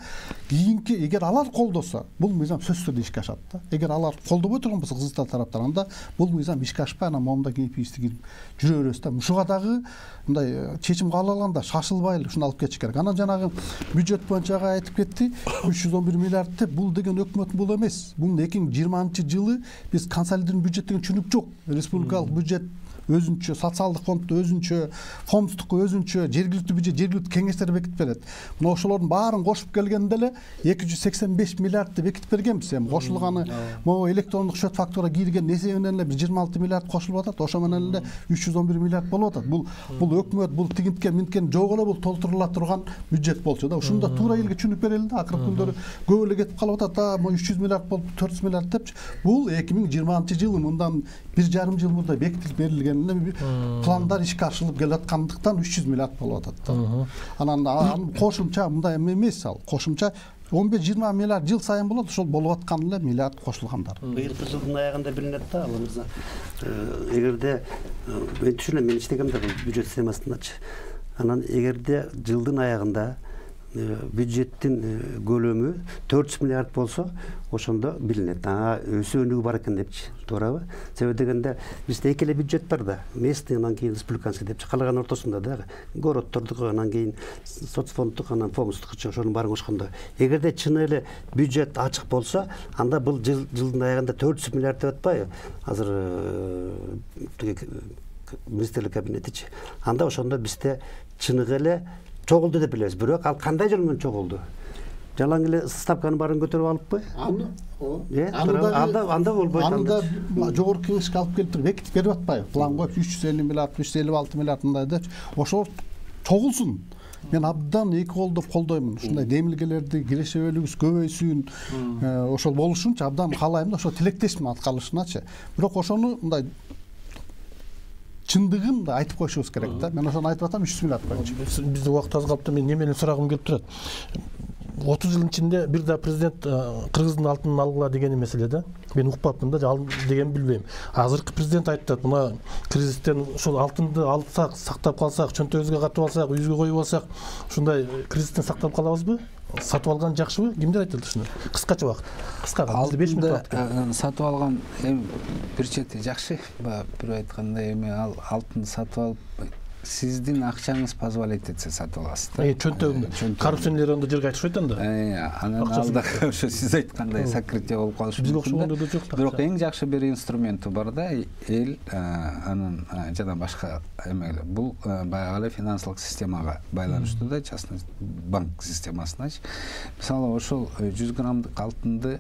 кийинки эгер алар колдосо, бул мыйзам сөзсүз түрдө ишке ашат да. Эгер алар колдобой турган болсо кызыктар тараптар, анда бул мыйзам ишке ашпай, анан момунда кийип жүрө беребиз да. Ушуга дагы мындай чечим кабыл алганда шашылбай эле ушуну алып кетиш керек. Анан жанагы бюджет боюнча айтып кетти, үч жүз он бир миллиард деп, бул деген өкмөттүн бул эмес. Бул эки миң жыйырманчы жылы биз консолидированный бюджет деген түшүнүк жок. Республикалык бюджет өзүнчө, социалдык фонд өзүнчө, фондтук өзүнчө, жергиликтүү бюджет жергиликтүү кеңештер бекитип берет. Мына ошолордун баарын кошуп келгенде эле эки жүз сексен беш миллиардты бекитип бергенбиз. Эми кошулганы могу электрондук счет фактура кирген эсебинен эле бир жыйырма алты миллиард кошулуп атат. Ошо менен эле үч жүз он бир миллиард болуп атат. Бул бул өкмөт, бул тигинткен минткен жок эле бул толтурула турган бюджет болчу да. Ушуну да туура элге түшүнүп берели да. Акыркы күндөрү көп эле кетип калып атат да. Могу үч жүз миллиард болуп төрт жүз миллиард депчи. Бул эки миң жыйырманчы жылы мындан бир жарым жыл мурда бекитилип берилген пландар ишке ашырылып келаткандыктан үч жүз миллиард болуп атат да. Анан кошумча мындай эмес, ал кошумча он беш жыйырма миллиард жыл сайын болот, ошол болуп аткан эле миллиард кошулгандар. Быйылкы жылдын аягында билинет да, ал мырза. Эгерде мен түшүнөм, мен иштегем да бул бюджет системасындачы. Анан эгерде жылдын аягында бюджеттин көлөмү төрт жүз миллиард болсо, ошондо билинет. Ага өсүү өнүгүү бар экен депчи. Туурабы? Себеби дегенде бизде эки эле бюджет бар да. Местный, анан кийин республиканский депчи. Калган ортосунда да городтордук, анан кийин соцфонддук, анан фомстук ошонун баарын кошкондо. Эгерде чын эле бюджет ачык болсо, анда бул жылдын аягында төрт жүз миллиард деп атпайбы? Азыр министрлик кабинетичи. Анда ошондо бизде чыныгы эле чогулду деп билебиз. Бирок ал кандай жол менен чогулду? Жалаң эле ставканын баарын көтөрүп алыппы? Аны анда анда болбойт. Анда жогорку кеңешке алып келип туруп бекитип берип атпайбы? План коюп үч жүз элүү миллиард, үч жүз элүү алты миллиард мындай деп. Ошол чогулсун. Мен абдан эки колдоп колдоймун. Ушундай демилгелерди кирешебелигибиз көбөйсүн, ошол болушунчу абдан каалайм да, ошо тилектешмин аткарылышыначы. Бирок ошону мындай чындыгын да айтып коюшубуз керек да. Мен ошону айтып атам, үч жүз миллиард койчу. Бизде убакыт аз калыпты. Мен немене сурагым келип турат. отуз жылдын ичинде бир да президент кыргыздын алтынын алгыла деген эмес эле да. Мен укпапмын да, ал деген билбейм. Азыркы президент айтат, мына кризистен ошол алтынды алсак, сактап калсак, чөнтөгүбүзгө катып алсак, үйүбүзгө коюп алсак, ушундай кризистен сактап калабызбы? Сатып алган жакшыбы? Кимдер айтат ушуну? Кыскача убакыт. Кыска, бизде беш мүнөт бар. Сатып алган эми бир чети жакшы, бирөө айткандай эми ал алтынды сатып алып сиздин акчаңыз позволить этсе сатып аласыз да. Чөнтөгүндө коррупционерлер анда жерге айтышпайт анда. Анан алда ошо сиз айткандай сокрытие болуп калышы мүмкүн. Бирок эң жакшы бир инструменти бар да, эл анын жана башка эмелер. Бул баягы эле финансылык системага байланыштуу да, частный банк системасыначы. Мисалы ошол жүз граммдык алтынды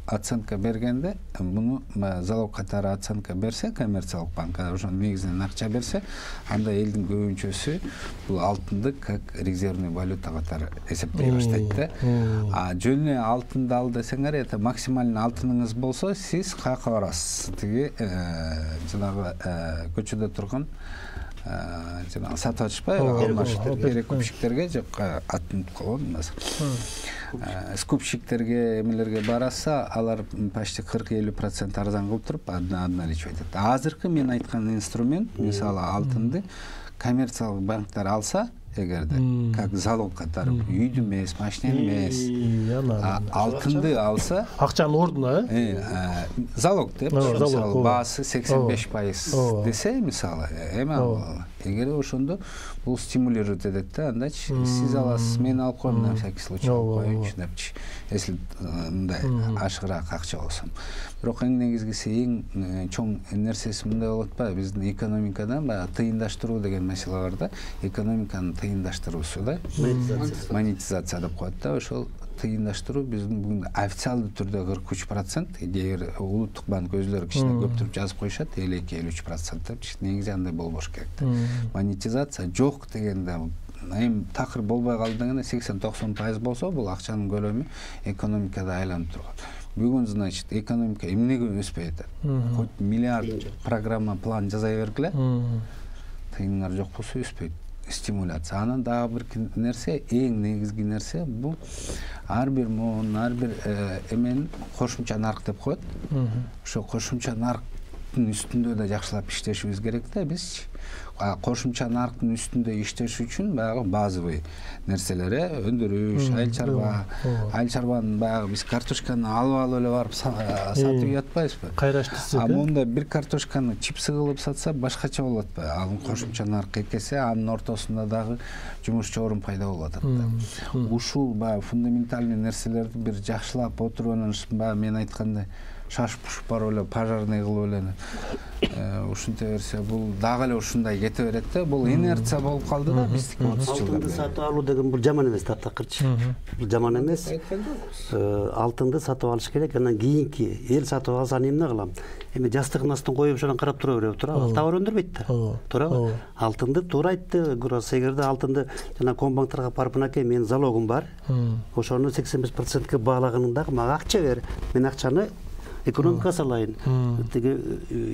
оценка бергенде, муну залог катары оценка берсе, коммерциялык банк ошонун негизинен акча берсе, анда элдин көбүнчөсү бул алтынды как резервный валюта катары эсептей баштайт да. А жөн эле алтынды ал десеңер, это максимальный алтыныңыз болсо, сиз каяка барасыз? Тиги жанагы көчөдө турган жана сатып атышпайбы, алмашып перекупщиктерге жок атын коём скупщиктерге, эмелерге бараса, алар почти кырк элүү процент арзан кылып туруп обналичивать этет. Азыркы мен айткан инструмент, мисалы алтынды коммерциялык банктар алса, эгерде как залог катары үйдү эмес, машинени эмес, алтынды алса, акчанын ордуна, э, залог деп, мисалы баасы сексен беш пайыз десе, мисалы, эми ал эгер ошондо бул стимулировать этет да, андачы сиз аласыз, мен алып коем на всякий случай алып коеюнчу депчи, если мындай ашыгыраак акча болсо. Бирок эң негизгиси, эң чоң нерсеси мындай болуп атпайбы, биздин экономикада баягы тыйындаштыруу деген маселе бар да, экономиканын тыйындаштыруусу да, монетизация деп коет да, ошол тыйындаштыруу биздин бүгүн официалдуу түрдө кырк үч процент, эгер улуттук банк өзлөрү кичине көптүрүп жазып коюшат, элүү эки элүү үч процент депчи, негизи андай болбош керек да. Монетизация жок дегенде, эми такыр болбой калды дегенде сексен токсон пайыз болсо, бул акчанын көлөмү экономикада айланып турат. Бүгүн, значит, экономика эмнеге өспөй атат? Хоть миллиард программа, план жаза бергиле, тыйындар жок болсо өспөйт. Стимуляция. Анан дагы бир нерсе, эң негизги нерсе, бул ар бир муун, ар бир эмен кошумча нарк деп коет. Ошо кошумча нарктын үстүндө да жакшылап иштешибиз керек да бизчи. Кошумча нарктын үстүндө иштеш үчүн баягы базовый нерселер, өндүрүш, айыл чарба, айыл чарбанын баягы биз картошканы алып алып эле барып сатып жатпайбызбы? Кайра иштесек. А мында бир картошканы чипсы кылып сатса башкача болот атпайбы? Ал кошумча нарк экесе, анын ортосунда дагы жумушчу орун пайда болуп атат да. Ушул баягы фундаментальный нерселерди бир жакшылап отуруп анан баягы мен айткандай шаш-пуш барып эле пожарный кылып эле ушинте берсе, бул дагы эле ушундай кете берет да. Бул инерция болуп калды да биздики отуз жылда. Алтынды сатып алуу деген бул жаман эмес таптакырчы. Бул жаман эмес. Алтынды сатып алыш керек, анан кийинки эл сатып алса эмне кылам? Эми жастыгын астын коюп ошондон карап тура береби, туурабы? Ал товар өндүрбөйт да. Туурабы? Алтынды туура айтты Гурас, эгерде алтынды жана комбанктарга барып, мынакей менин залогум бар, ошону сексен беш процентке баалаганыңда мага акча бер. Мен акчаны экономикага салайын, тиги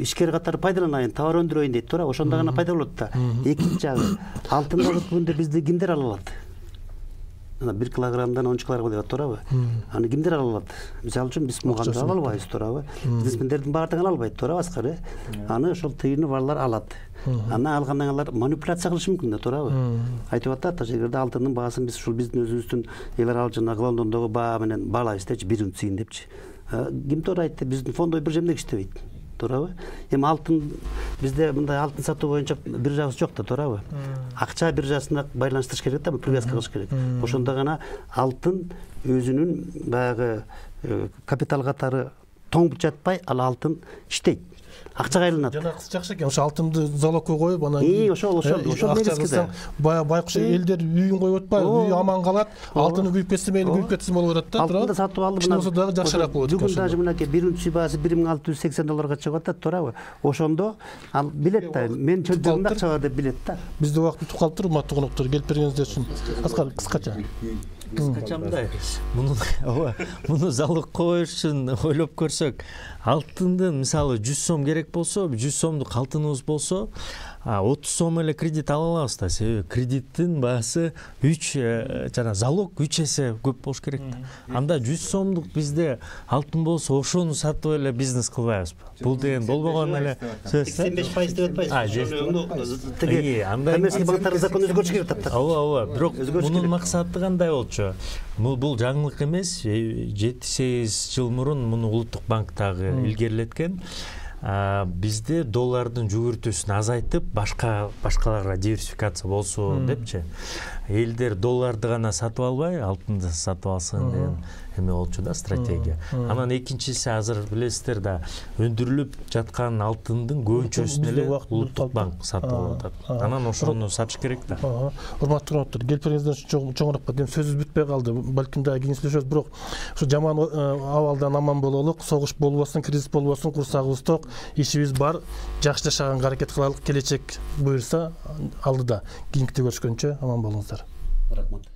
ишкер катары пайдаланайын, товар өндүрөйүн дейт, туура, ошондо гана пайда болот да. Экинчи жагы, алтынды алып бүгүндө бизди кимдер ала алат? бир килограммдан онунчу килограммга деп туурабы? Аны кимдер ала алат? Мисалы үчүн биз мугандар ала албайбыз, туурабы? Бизнесмендердин баардыгы ала албайт, туурабы Аскар? Аны ошол тыйыны барлар алат. Аны алгандан алар манипуляция кылышы мүмкүн да, туурабы? Айтып атат, ошол жерде алтындын баасын биз ушул биздин өзүбүздүн эл аралык жана Лондондогу баа менен баалайбыз депчи, бир унцияны депчи. Ким туура айтты? Биздин фондой биржемдек иштебейт. Туурабы? Эми алтын бизде мындай алтын сатуу боюнча биржабыз жок да, туурабы? Акча биржасына байланыштырыш керек да, привязка кылыш керек. Ошондо гана алтын өзүнүн баягы капитал катары тоңуп жатпай, ал алтын иштейт. Акчага айланат. Жана кыз жакшы экен, ошо алтынды залогко коюп, анан И, ошол ошол ошол негизги да. Бая байкуш элдер үйүн коюп атпайбы, үй аман калат, алтыны күйүп кетсе мейли күйүп кетсин болуп атат да, туурабы? Алтынды сатып алды мына. Болсо дагы жакшыраак болот экен. Бүгүн дагы мынакей бир унция баасы бир миң алты жүз сексен долларга чыгып атат, туурабы? Ошондо ал билет да, мен чөнтөгүмдө акча бар деп билет да. Бизде убакыт бүтүп калыптыр, урматтуу коноктор, келип бергениңиздер үчүн. Аскар, кыскача. Кыскача мындай, муну ооба, муну залог коюш үчүн ойлоп көрсөк, алтындын мисалы жүз сом керек болсо, жүз сомдук алтыныбыз болсо, отуз сом эле кредит ала алабыз да. Себеби кредиттин баасы үч жана залог үч эсе көп болуш керек да. Анда жүз сомдук бизде алтын болсо, ошону сатып эле бизнес кылбайбызбы? Бул деген болбогон эле сөз. сексен беш пайыз деп атпайсызбы? Тиги коммерческий банктардын закону өзгөрүш керек атат. Ооба, ооба. Бирок мунун максаты кандай болчу? Бул жаңылык эмес. жети сегиз жыл мурун муну Улуттук банк дагы илгерилеткен. Бизде доллардын жүгүртүүсүн азайтып, башка башкаларга диверсификация болсун депчи. Элдер долларды гана сатып албай, алтынды сатып алсын деген эме болчу да, стратегия. Анан экинчиси азыр билесиздер да, өндүрүлүп жаткан алтындын көбүнчөсүн эле Улуттук банк сатып алып атат. Анан ошону сатыш керек да. Урматтуу коноктор, келип бергениңиздер үчүн чоңураак рахмат. Эми сөзүбүз бүтпөй калды. Балким дагы кийин сүйлөшөбүз, бирок ушу жаман абалдан аман бололук, согуш болбосун, кризис болбосун, курсагыбыз ток, ишибиз бар, жакшы жашаганга аракет кылайлык. Келечек буюрса алдыда. Кийинките көрүшкөнчө аман болуңуздар. Рахмат.